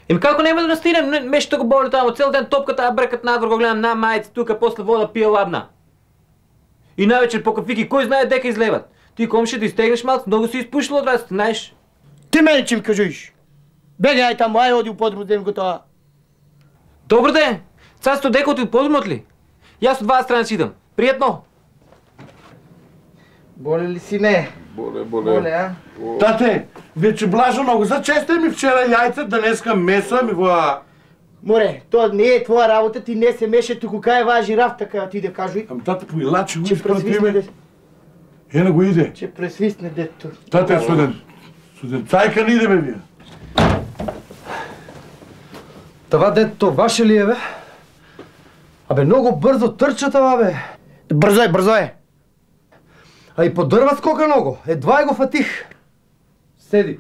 Speaker 9: Еми како нема да настинем, мешто го боли таму, цел ден топката, а бркат надвор го гледам на мајци тука, после вода пие ладна. И навечер по кафики, кој знае дека излеват? Ти комши да изтегнеш малку, многу си испушил од вас, знаеш?
Speaker 10: Ти мене ќе ми кажеш. Бегај таму, ај оди у подрумот, дем го тоа.
Speaker 9: Добро ден! Царство дека оти у подрумот ли? Јас од вас страна си идам. Пријатно!
Speaker 10: Боле ли си не?
Speaker 1: Боле,
Speaker 10: Боле, а?
Speaker 1: Тате, вече Блажо многу зачесте ми вчера јајца, денеска месо ми во...
Speaker 10: Море, тоа не е твоја работа, ти не се меше, туку кај важи рафта кај ти да кажуј.
Speaker 1: Ам тате поилачи го
Speaker 10: Че
Speaker 1: испрати
Speaker 10: пресвисне
Speaker 1: ме.
Speaker 10: дете.
Speaker 1: Ена го иде.
Speaker 10: Че пресвисне дето.
Speaker 1: Тате, суден. Суден цајка не идеме вие.
Speaker 3: Това детето ваше ли е, бе? Абе, многу брзо трча това, бе.
Speaker 10: Брзо е, брзо е.
Speaker 3: А и по дрва скока много. Едва е го фатих. Седи.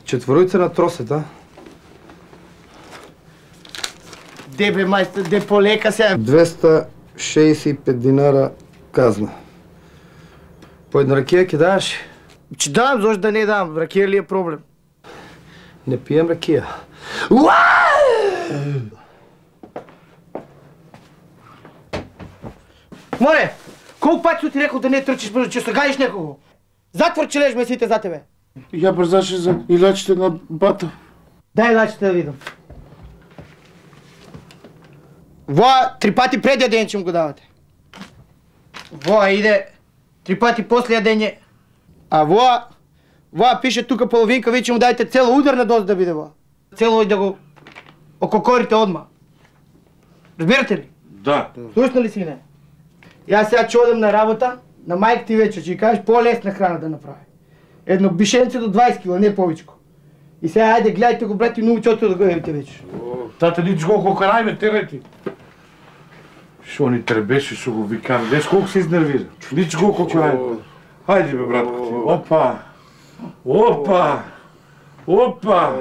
Speaker 3: Четворујца на тросет, а?
Speaker 10: Де бе, мајстор, де полека се.
Speaker 3: двеста шеесет и пет динара казна. По една ракија ќе даваш?
Speaker 10: Че дам, зошто да не дам, ракија ли е проблем?
Speaker 3: Не пием ракија.
Speaker 10: Море, колку пати су ти рекол да не трчиш брзо, че се гаиш некого? Затвор че лежи месите за тебе.
Speaker 1: Ја брзаше за илачите на бата.
Speaker 10: Дај лачите да видам. Воа, три пати пред јадење ќе му го давате. Воа иде, три пати после јадење. А воа, воа пише тука половинка, ви ќе му дајте цела ударна доза да биде воа. Цело и да го ококорите одма. Разбирате ли?
Speaker 1: Да.
Speaker 10: Слушна ли си не? Јас сега ќе одам на работа, на мајка ти вечер ќе кажеш по-лесна храна да направи. Едно бишенце до дваесет кила, не повечко. И сега ајде гледајте го брат и научете да го евите вечер.
Speaker 1: Тате, нич го кокарајме, терети. Шо ни требеше, шо го викам, деш колку се изнервира. Нич го кокарајме. Хајде бе, братко ти. Опа! Опа! Опа!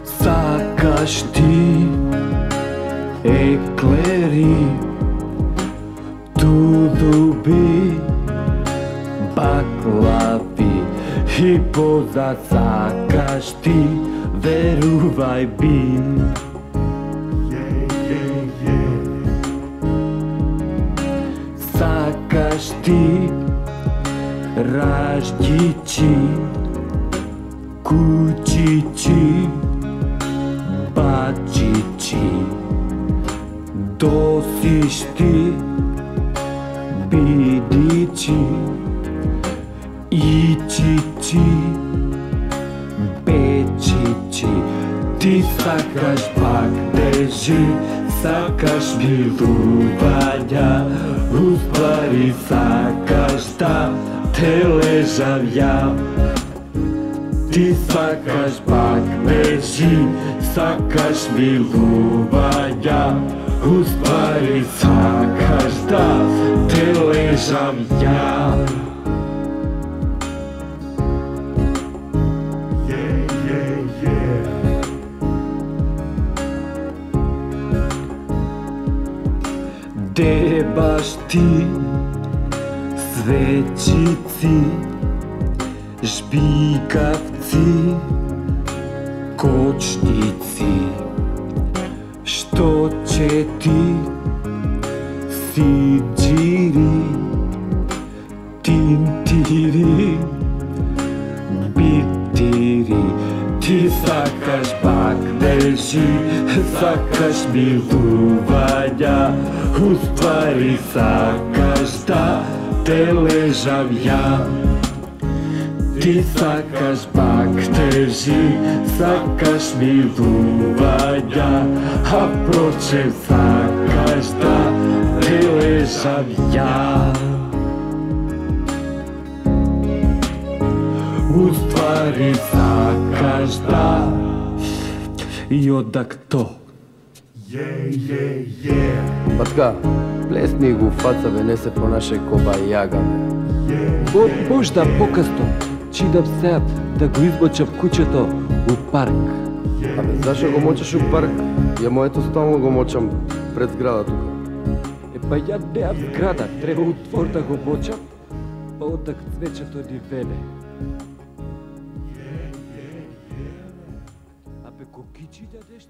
Speaker 4: Сакаш ти еклери, тудуби, баклави и позад сакаш ти, верувај би. Сакаш ти раждичи, кучичи, бачичи, досиш ти, бидичи, ичичи, печичи. Ти сакаш пак дежи, сакаш милувања, уствари сакаш да те лежам ја. Ти сакаш пак лежи, сакаш милувања, уствари сакаш да те лежам ја. Де баш ти, свечици, жбикавци, кочници, што ќе ти сиџири, тинтири, тежи, сакаш милувања, уствари сакаш да те лежам ја. Ти сакаш пак тежи, сакаш милувања, а прочем сакаш да те лежам ја. Уствари сакаш да и одак то. Је, је, је.
Speaker 7: Батка, плесни го фаца, бе, не се понашај коба јага, бе.
Speaker 4: Од можда покасно, чидам сеат да го избочам куќето у парк.
Speaker 7: Абе, зашо го мочаш у парк? Ја моето стално го мочам пред зграда тука.
Speaker 4: Е, па ја неам зграда, треба у двор да го мочам, па одак цвечето ни веле. Абе, кокичи да нешто?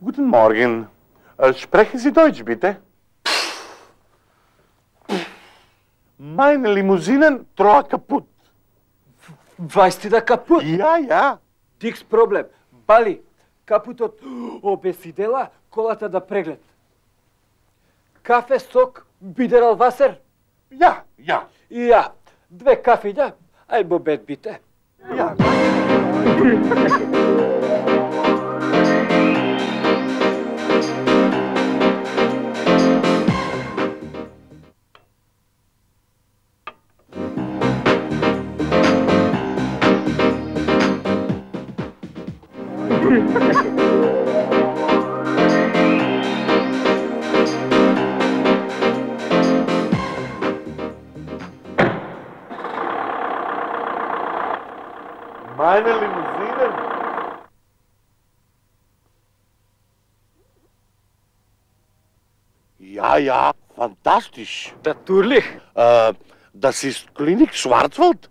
Speaker 1: Guten Morgen. Sprechen Sie Deutsch, bitte? Meine Limousinen troa kaputt.
Speaker 4: Weißt du da kaputt?
Speaker 1: Ja, ja.
Speaker 4: Тикс проблем. Бали, капутот обесидела, колата да преглед. Кафе, сок, бидерал васер?
Speaker 1: Ja, ja.
Speaker 4: И ја, две кафиња, ај бобет бите.
Speaker 1: Ja. Meine Limousinen? Ja, ja, fantastisch.
Speaker 4: Natürlich.
Speaker 1: Äh, das ist Klinik Schwarzwald.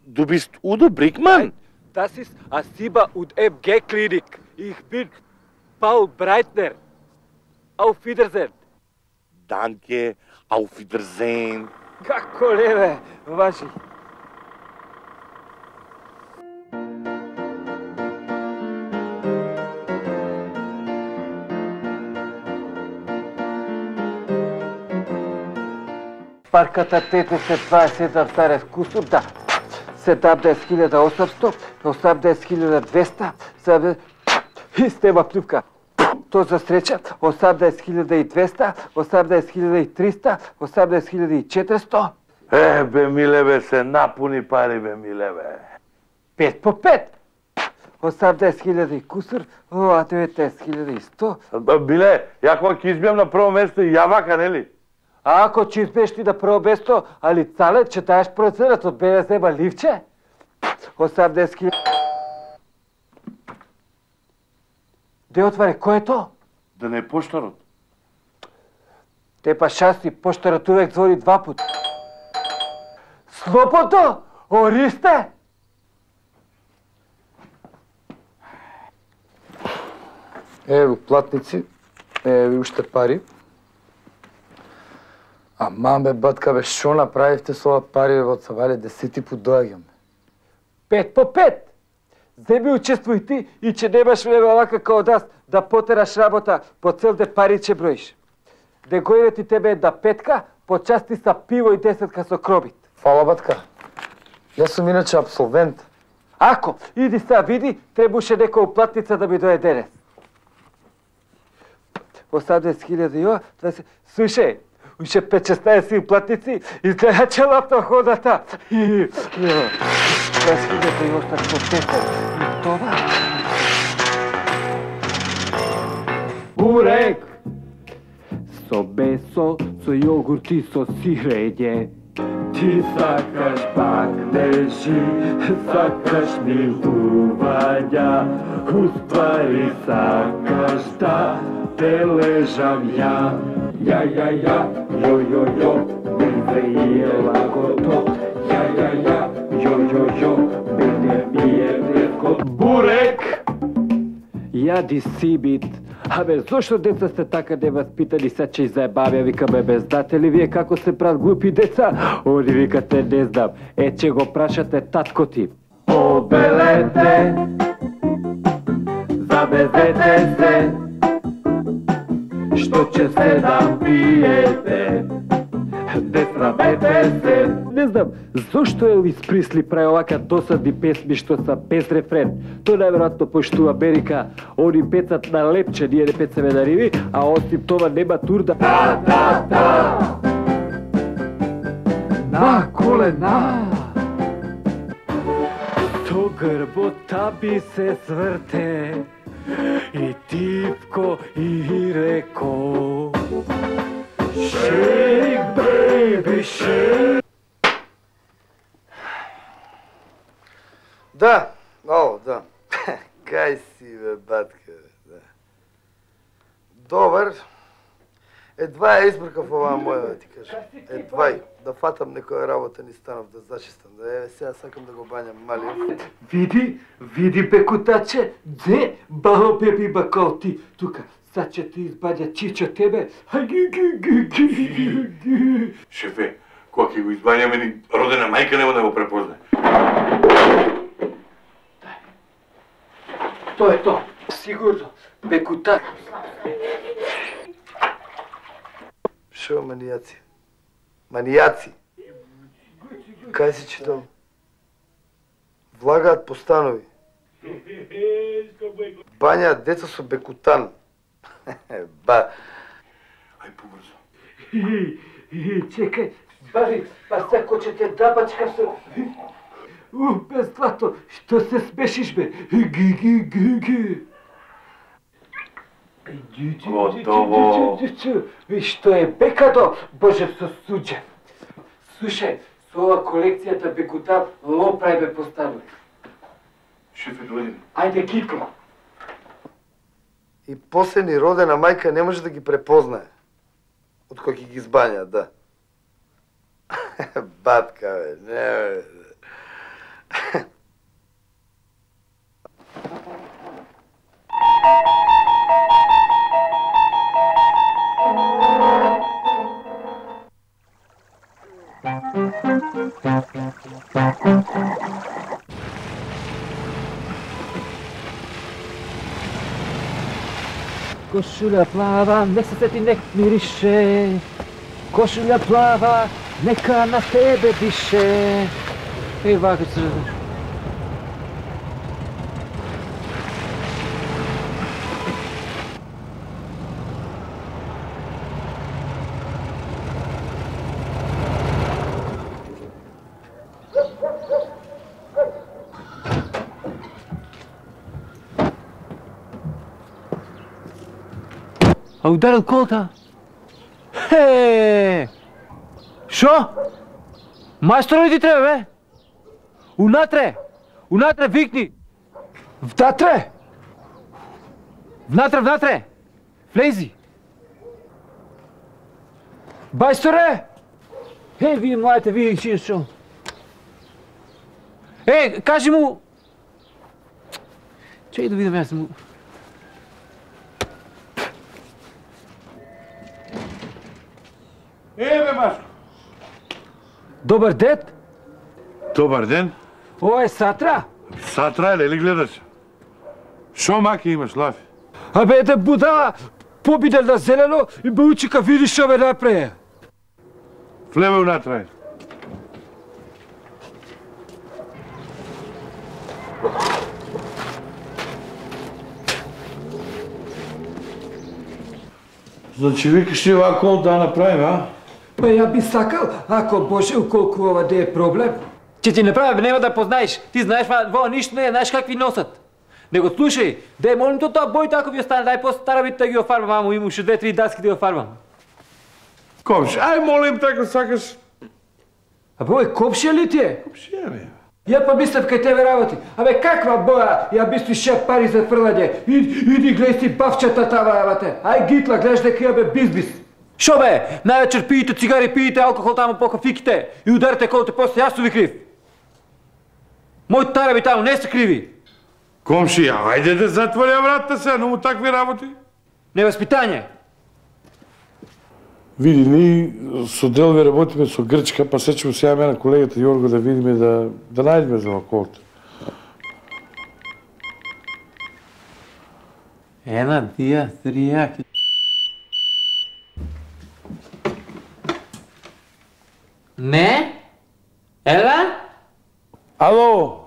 Speaker 1: Du bist Udo Brickmann?
Speaker 4: Das ist Asiba und M G Klinik. Ich bin Paul Breitner. Auf Wiedersehen.
Speaker 1: Danke, auf Wiedersehen.
Speaker 4: Како леве, ваши. Парката Тете се дваесет и седам старец кусур, да. седамдесет хиљади осамсто, осамдесет хиљади двеста, и стема плювка. То за среќа, осамдесет хиљади и двеста, осамдесет хиљади и триста, осамдесет хиљади и четиристо.
Speaker 1: Е, бе, милеве, се напуни пари, бе, милеве.
Speaker 4: Пет по пет. осамдесет хиљади и кусур, ова деветнаесет хиљади и сто.
Speaker 1: Биле, ја кога ќе избијам на прво место и ја вака, нели?
Speaker 4: А ако ќе избиеш ти на прво место, али цале, ќе даеш проценат од Б С М ливче? осамдесет хиљади. Де отваре, кој е то?
Speaker 1: Да не е поштарот.
Speaker 4: Те па шанси, поштарот увек звори два пут. Слободно, Ористе!
Speaker 7: Ево платници, ево уште пари. А маме, батка, бе, шо направивте со ова пари, бе, од Савале, десети пут доаѓам.
Speaker 4: Пет по пет! Земи учествуј ти и че немаш време овака као нас да потераш работа по цел де пари че броиш. Де гојде ти тебе една петка, почасти са пиво и десетка со кробит.
Speaker 7: Фала, батка. Јас сум иначе абсолвент.
Speaker 4: Ако, иди сега види, требуше некоја уплатница да ми дое денес. по дваесет хиљади јо, слушај, уште пет-шеснаесет платници и треба целата ходата. дваесет хиљади јо остат по петте. И това. Бурек! Со бесо, со јогурт и со сирење. Ти сакаш пак дежи, сакаш милувања, уствари сакаш да те лежам ја. Ја, ја, ја, јо, јо, јо, ми ми е лагото. Ја, ја, ја, јо, јо, јо, мене ми е легко. Бурек! Јади сибит. Абе, зошто деца сте така неваспитани, се че заебавја, викаме, бе, знате ли вие како се прават глупи деца? Они викате, не знам, е, че го прашате татко ти. Побелете, забезете се, што ќе се напиете, не срамете се. Не знам, зошто Елвис Присли прави овака досадни песми што са без рефрен? Тој најверојатно пошту Америка, они пецат на лепче, ние не пецаме на риви, а осим това нема турда. Да, да, да! На колена! Со грбота би се сврте, и типко и реко. Shake, baby, shake.
Speaker 1: Да, о, да. Кај си, бе, батка, бе, да. Добар. Едва ја избркав оваа моја, да ти кажам. Едва ја. Да фатам некоја работа, ни станав да зачистам. Да, еве, сега сакам да го бањам мали.
Speaker 4: Види, види, бекутаче, де, бао беби бакал ти, тука. Сад ќе ти избаѓа чичо тебе.
Speaker 1: Шефе, кога ќе го избањаме, ни родена мајка нема да го препознае.
Speaker 4: Тоа е тоа, сигурно, бекутак.
Speaker 1: Шо манијаци? Манијаци? Кај си читал? Влагаат по станови. Бањаат деца со бекутан. Ба. Ај побрзо.
Speaker 4: Чекај, бави, па сако ќе те дабачка со... У, без злато, што се смешиш, бе? Ги, ги, ги, ги.
Speaker 1: Готово.
Speaker 4: И што е бекадо, Боже со суđe. Слушај, со ова колекцијата бекутан лопрај бе поставили.
Speaker 1: Шефе, дојди.
Speaker 4: Ајде, кикла.
Speaker 1: И после ни родена мајка не може да ги препознае. Од кој ќе ги избања, да. Батка, бе, не, бе.
Speaker 4: Кошуља плава, не се сети, нек мирише. Кошуља плава, нека на тебе дише. Еј, вака се разумеш.
Speaker 9: А ударил колата? Хе! Шо? Мајстор, иди треба, бе? Унатре! Унатре, викни! Вдатре! Внатре, внатре! Влези! Мајсторе! Е, вие младите, вие си шо? Е, кажи му... Чеј да видам, јас му...
Speaker 1: Еве, Машко.
Speaker 9: Добар дет?
Speaker 1: Добар ден.
Speaker 9: Ова е Сатра?
Speaker 1: Сатра е, ли гледаш? Шо маки имаш, Лафи?
Speaker 9: Абе, да будала, побиде на зелено и ме учи ка видиш шо ме напреја.
Speaker 1: Влеме унатре. Значи викаш ти оваа кол да направим, а?
Speaker 4: Па ја би сакал, ако Боже, уколку ова да е проблем.
Speaker 9: Че ти направи, нема да познаеш. Ти знаеш, во ништо не е, знаеш какви носат. Него слушај, дај молим то тоа бој тако ви остане, дај после стара бит да ги офарбам, мамо, имам уште две-три даски да ги офарбам.
Speaker 1: Комши, ај молим тако сакаш.
Speaker 4: А бој, комшија ли ти е?
Speaker 1: Комшија ми.
Speaker 4: Ја па мислев кај тебе работи. Абе, каква боја? Ја би си шеп пари за фрлање. Иди гледај си бавчата тава, абате. Ај гитла, гледаш дека ја бе бизнис.
Speaker 9: Шо бе? Највечер пиете цигари, пиете алкохол таму по кафиките и ударите колите после, јас су ви крив. Мој тараби таму не се криви.
Speaker 1: Комшија, ајде да затворя вратата се, но му такви работи.
Speaker 9: Неваспитање.
Speaker 1: Види, ние со Делви работиме со Грчка, па се ќе му сејаме на колегата Јорго да видиме да, да најдеме за околото.
Speaker 9: Една, дија, трија. Не? Ела?
Speaker 1: Ало?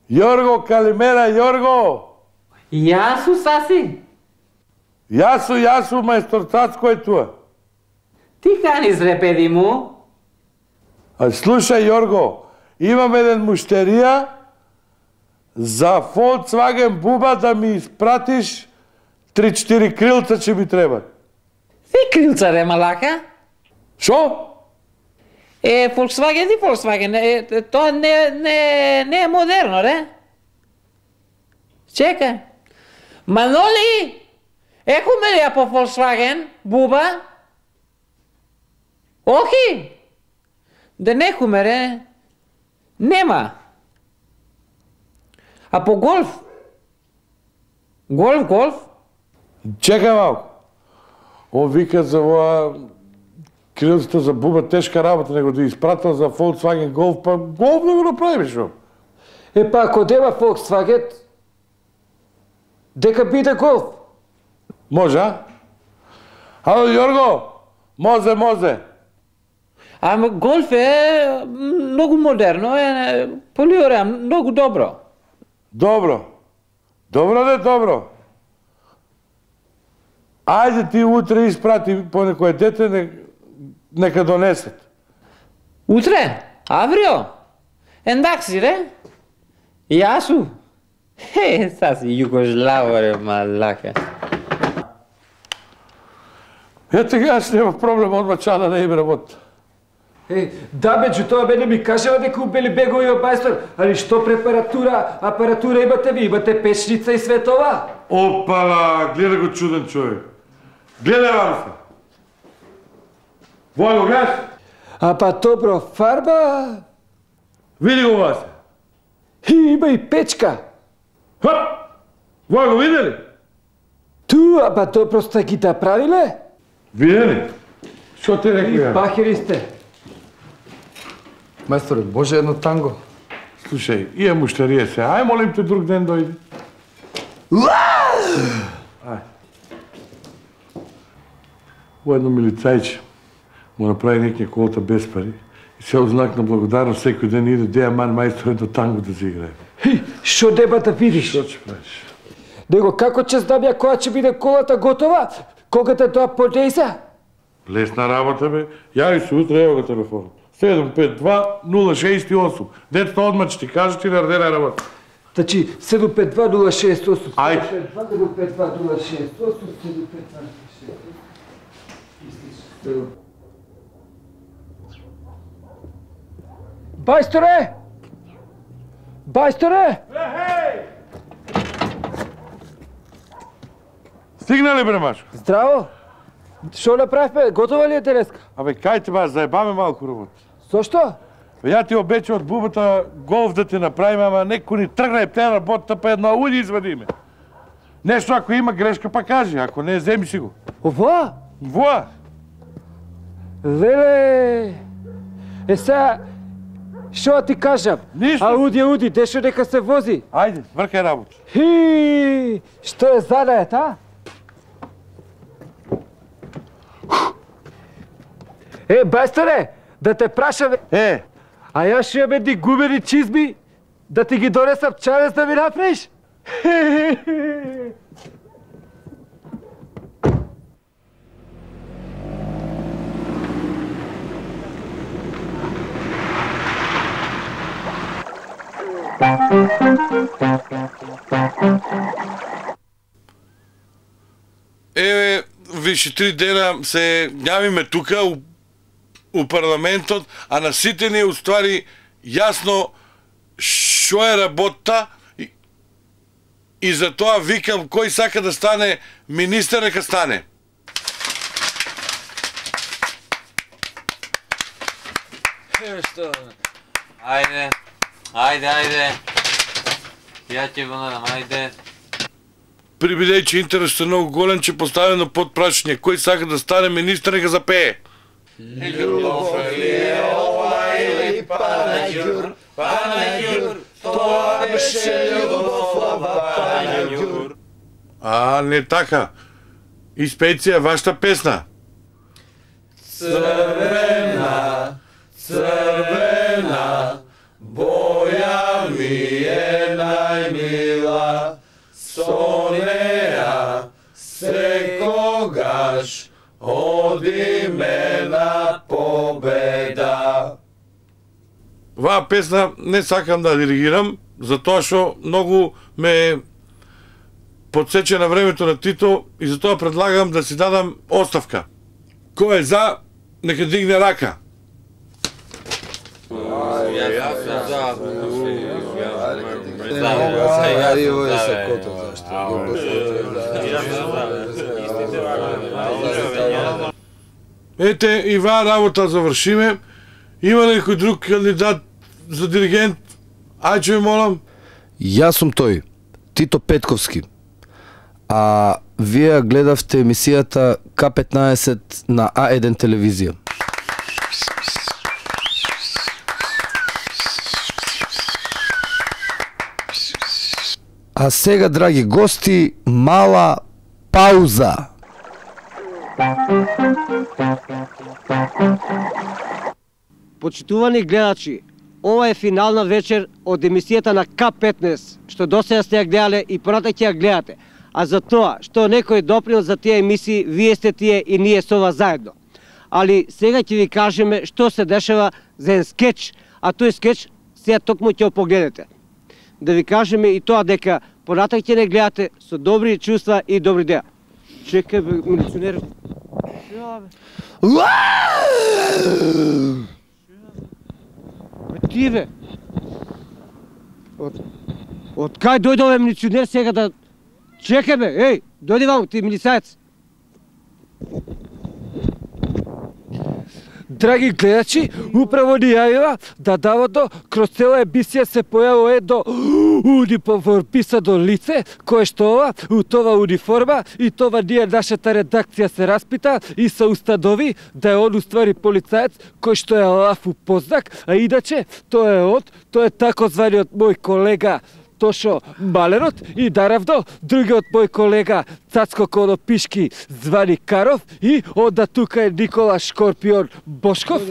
Speaker 1: Јорго, калимера, Јорго!
Speaker 9: Јасу, саси?
Speaker 1: Јасу, јасу, мајстор Цацко е туа.
Speaker 9: Ти кани зрепеди му?
Speaker 1: А слушај, Јорго, имам еден муштерија за Volkswagen буба да ми испратиш три-четири крилца че ми треба.
Speaker 2: Си крилца, ре, малака?
Speaker 1: Шо?
Speaker 2: Е, Volkswagen и Volkswagen, е, тоа не, не, не е модерно, ре? Чекај. Маноли, екуме ли ја по Volkswagen, буба? Охи? Да некуме, ре? Нема. А по голф? Голф, голф?
Speaker 1: Чекај малко. Он вика за ова крилцата за буба тешка работа, него да испратил за Volkswagen Golf, па Golf да го направиш, шо?
Speaker 4: Е, па ако дева Volkswagen, дека биде Голф.
Speaker 1: Може, а? Ало, Јорго, мозе, мозе.
Speaker 2: Ама голф е многу модерно, е полиора, многу добро.
Speaker 1: Добро. Добро де, добро. Ајде ти утре испрати по некој дете, не, нека донесат.
Speaker 2: Утре? Аврио? Ендакси, ре? Јасу? Хе, саси југославо, ре, малака.
Speaker 1: Ете ја аз нема проблем, одма чана не име работа.
Speaker 4: Е, да бе, џу тоа бе не ми кажава дека убели бегови во бајстор, али што препаратура, апаратура имате ви, имате печница и све това?
Speaker 1: Опа, гледа го чуден човек. Гледа вам се. Вој го гледаш?
Speaker 4: А па добро, фарба...
Speaker 1: Види го вас.
Speaker 4: И има и печка.
Speaker 1: Хоп! Вој го видели?
Speaker 4: Ту, а па добро сте ги да правиле?
Speaker 1: Видели? Што те рекли?
Speaker 4: И бахери сте.
Speaker 7: Мајсторе, Боже, едно танго.
Speaker 1: Слушај, ија муштерија се, ај молим те друг ден дојди. Ај. Оедно милицајче му направи некоја колта без пари и се ознак на благодарност секој ден иде деја ман мајсторе до танго да се играе.
Speaker 4: Хи, шо деба да видиш?
Speaker 1: Што ќе правиш?
Speaker 4: Него како ќе знам ја која ќе биде колата готова? Кога те тоа подејза?
Speaker 1: Лесна работа бе. Јави се утре, ево го телефон. седум пет два нула шест осум. Дето одма ќе ти кажа ти наредена работа.
Speaker 4: Значи седум пет два нула шест осум.
Speaker 1: Ајде.
Speaker 4: седум пет два нула шест осум, седум пет два нула шест осум. Бајсторе! Бајсторе!
Speaker 1: Стигнали бре Машко?
Speaker 4: Здраво! Шо направивме? Готова ли е денеска?
Speaker 1: Абе, кај те бас, заебаме малку работа.
Speaker 4: Зошто?
Speaker 1: Ја ти обече од бубата голф да ти направиме, ама некој ни тргна и те работата, па една уди извадиме. Нешто ако има грешка, па кажи, ако не, земи си го.
Speaker 4: Ова?
Speaker 1: Воа!
Speaker 4: Леле! Е сега, шо ти кажам?
Speaker 1: Ништо.
Speaker 4: Ауди, ауди, дешо дека се вози.
Speaker 1: Ајде, вркај работа.
Speaker 4: Хи! Што е задајат, а? Е, бајсторе, да те прашам...
Speaker 1: Е!
Speaker 4: А јас ще имам едни гумени чизми, да ти ги донесам чарес да ми направиш?
Speaker 1: Еве, више три дена се јавиме тука у, у парламентот, а на сите ни уствари јасно што е работа и, и за тоа викам кој сака да стане министер, нека стане.
Speaker 2: Еве што? Ајде, ајде, ајде. Ја ќе го надам, ајде.
Speaker 1: Прибидејќи интересот е многу голем, ќе поставено под прашање кој сака да стане министер, нека запее.
Speaker 11: Љубов е ова или панаѓур, панаѓур, тоа беше љубов ова панаѓур.
Speaker 1: А, не така. Испејте вашата песна.
Speaker 11: Црвена, црвена, боја ми е најмила, со неа секогаш одиме на победа.
Speaker 1: Ваа песна не сакам да диригирам, затоа што многу ме подсече на времето на Тито и затоа предлагам да си дадам оставка. Кој е за, нека дигне рака. Ете, и ваа работа завршиме. Има ли некој друг кандидат за диригент? Ајче ви молам.
Speaker 7: Јас сум тој, Тито Петковски. А вие гледавте емисијата К петнаесет на А еден телевизија. А сега, драги гости, мала пауза.
Speaker 5: Почитувани гледачи, ова е финална вечер од емисијата на К петнаесет, што досега сте ја гледале и понатак ќе ја гледате. А за тоа што некој допринел за тие емисии, вие сте тие и ние со вас заедно. Али сега ќе ви кажеме што се дешава за еден скеч, а тој скеч сега токму ќе го погледнете. Да ви кажеме и тоа дека понатак ќе не гледате со добри чувства и добри идеја. Чекај бе, милиционер. Бе ти бе. Од од кај дојде овој милиционер сега да чекај бе, еј, дојди ваму ти милицаец.
Speaker 12: Драги гледачи, управо ни јавила да давото кроз цела емисија се појавува едно униформисано лице, кое што ова, у това униформа и това ние нашата редакција се распита и се установи да е он уствари полицаец кој што е лав у познак, а иначе тоа е од, тоа е такозваниот мој колега Тошо Малерот и наравно другиот мој колега Цацко Конопишки звани Каров и онда тука е Никола Шкорпион Бошков.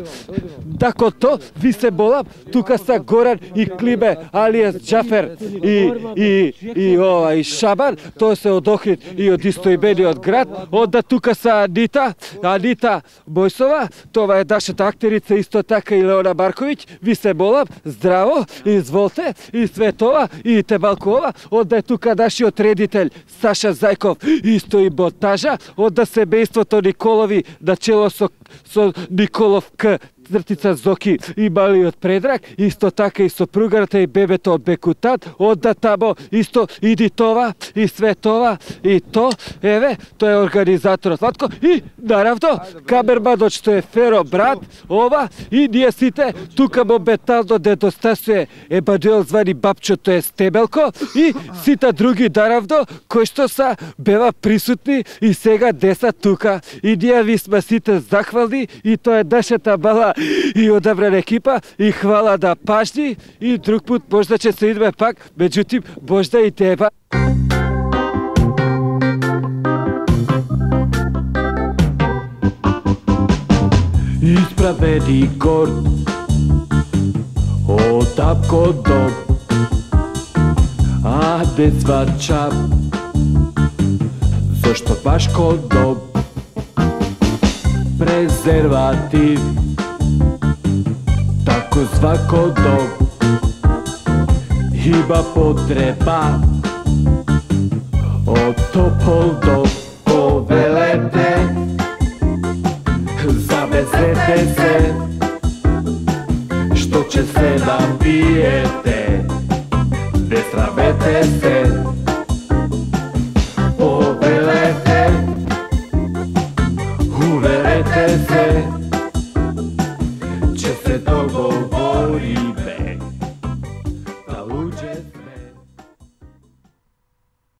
Speaker 12: Дако то, ви се молам, тука са Горан и Климе алијас Џафер и и и ова и Шабан, тоа се од Охрид и од истоимениот град. Онда тука са Анита, Анита Бојсова, тоа е нашата актерица исто така и Леона Марковиќ. Ви се молам, здраво, изволте и све тоа и те малку ова. Онда е тука нашиот редител Саша Зајков, исто и монтажа, онда семејството Николови на чело со, со Николов К, цртица Зоки и малиот Предраг, исто така и сопругарата и бебето од Бекутан, онда тамо исто иди това и све това и то, еве, тој е организаторот Ватко и наравно камерманот што е Феро брат, ова и ние сите тука моментално недостасуе Емануел звани Бабчо, тој е Стебелко и сите други наравно кои што са бева присутни и сега деса тука и ние ви сме сите захвални и тоа е нашата мала и одабрана екипа и хвала да пашни и друг пут можда ќе се идеме пак, меѓутим можда и теба. Исправени горд од тапко дом, а деца чап, зашто баш кондом, презерватив, тако зван кондом,
Speaker 4: има потреба од Топол до Повелете. Завезете се, што ќе се напиете, не срамете се.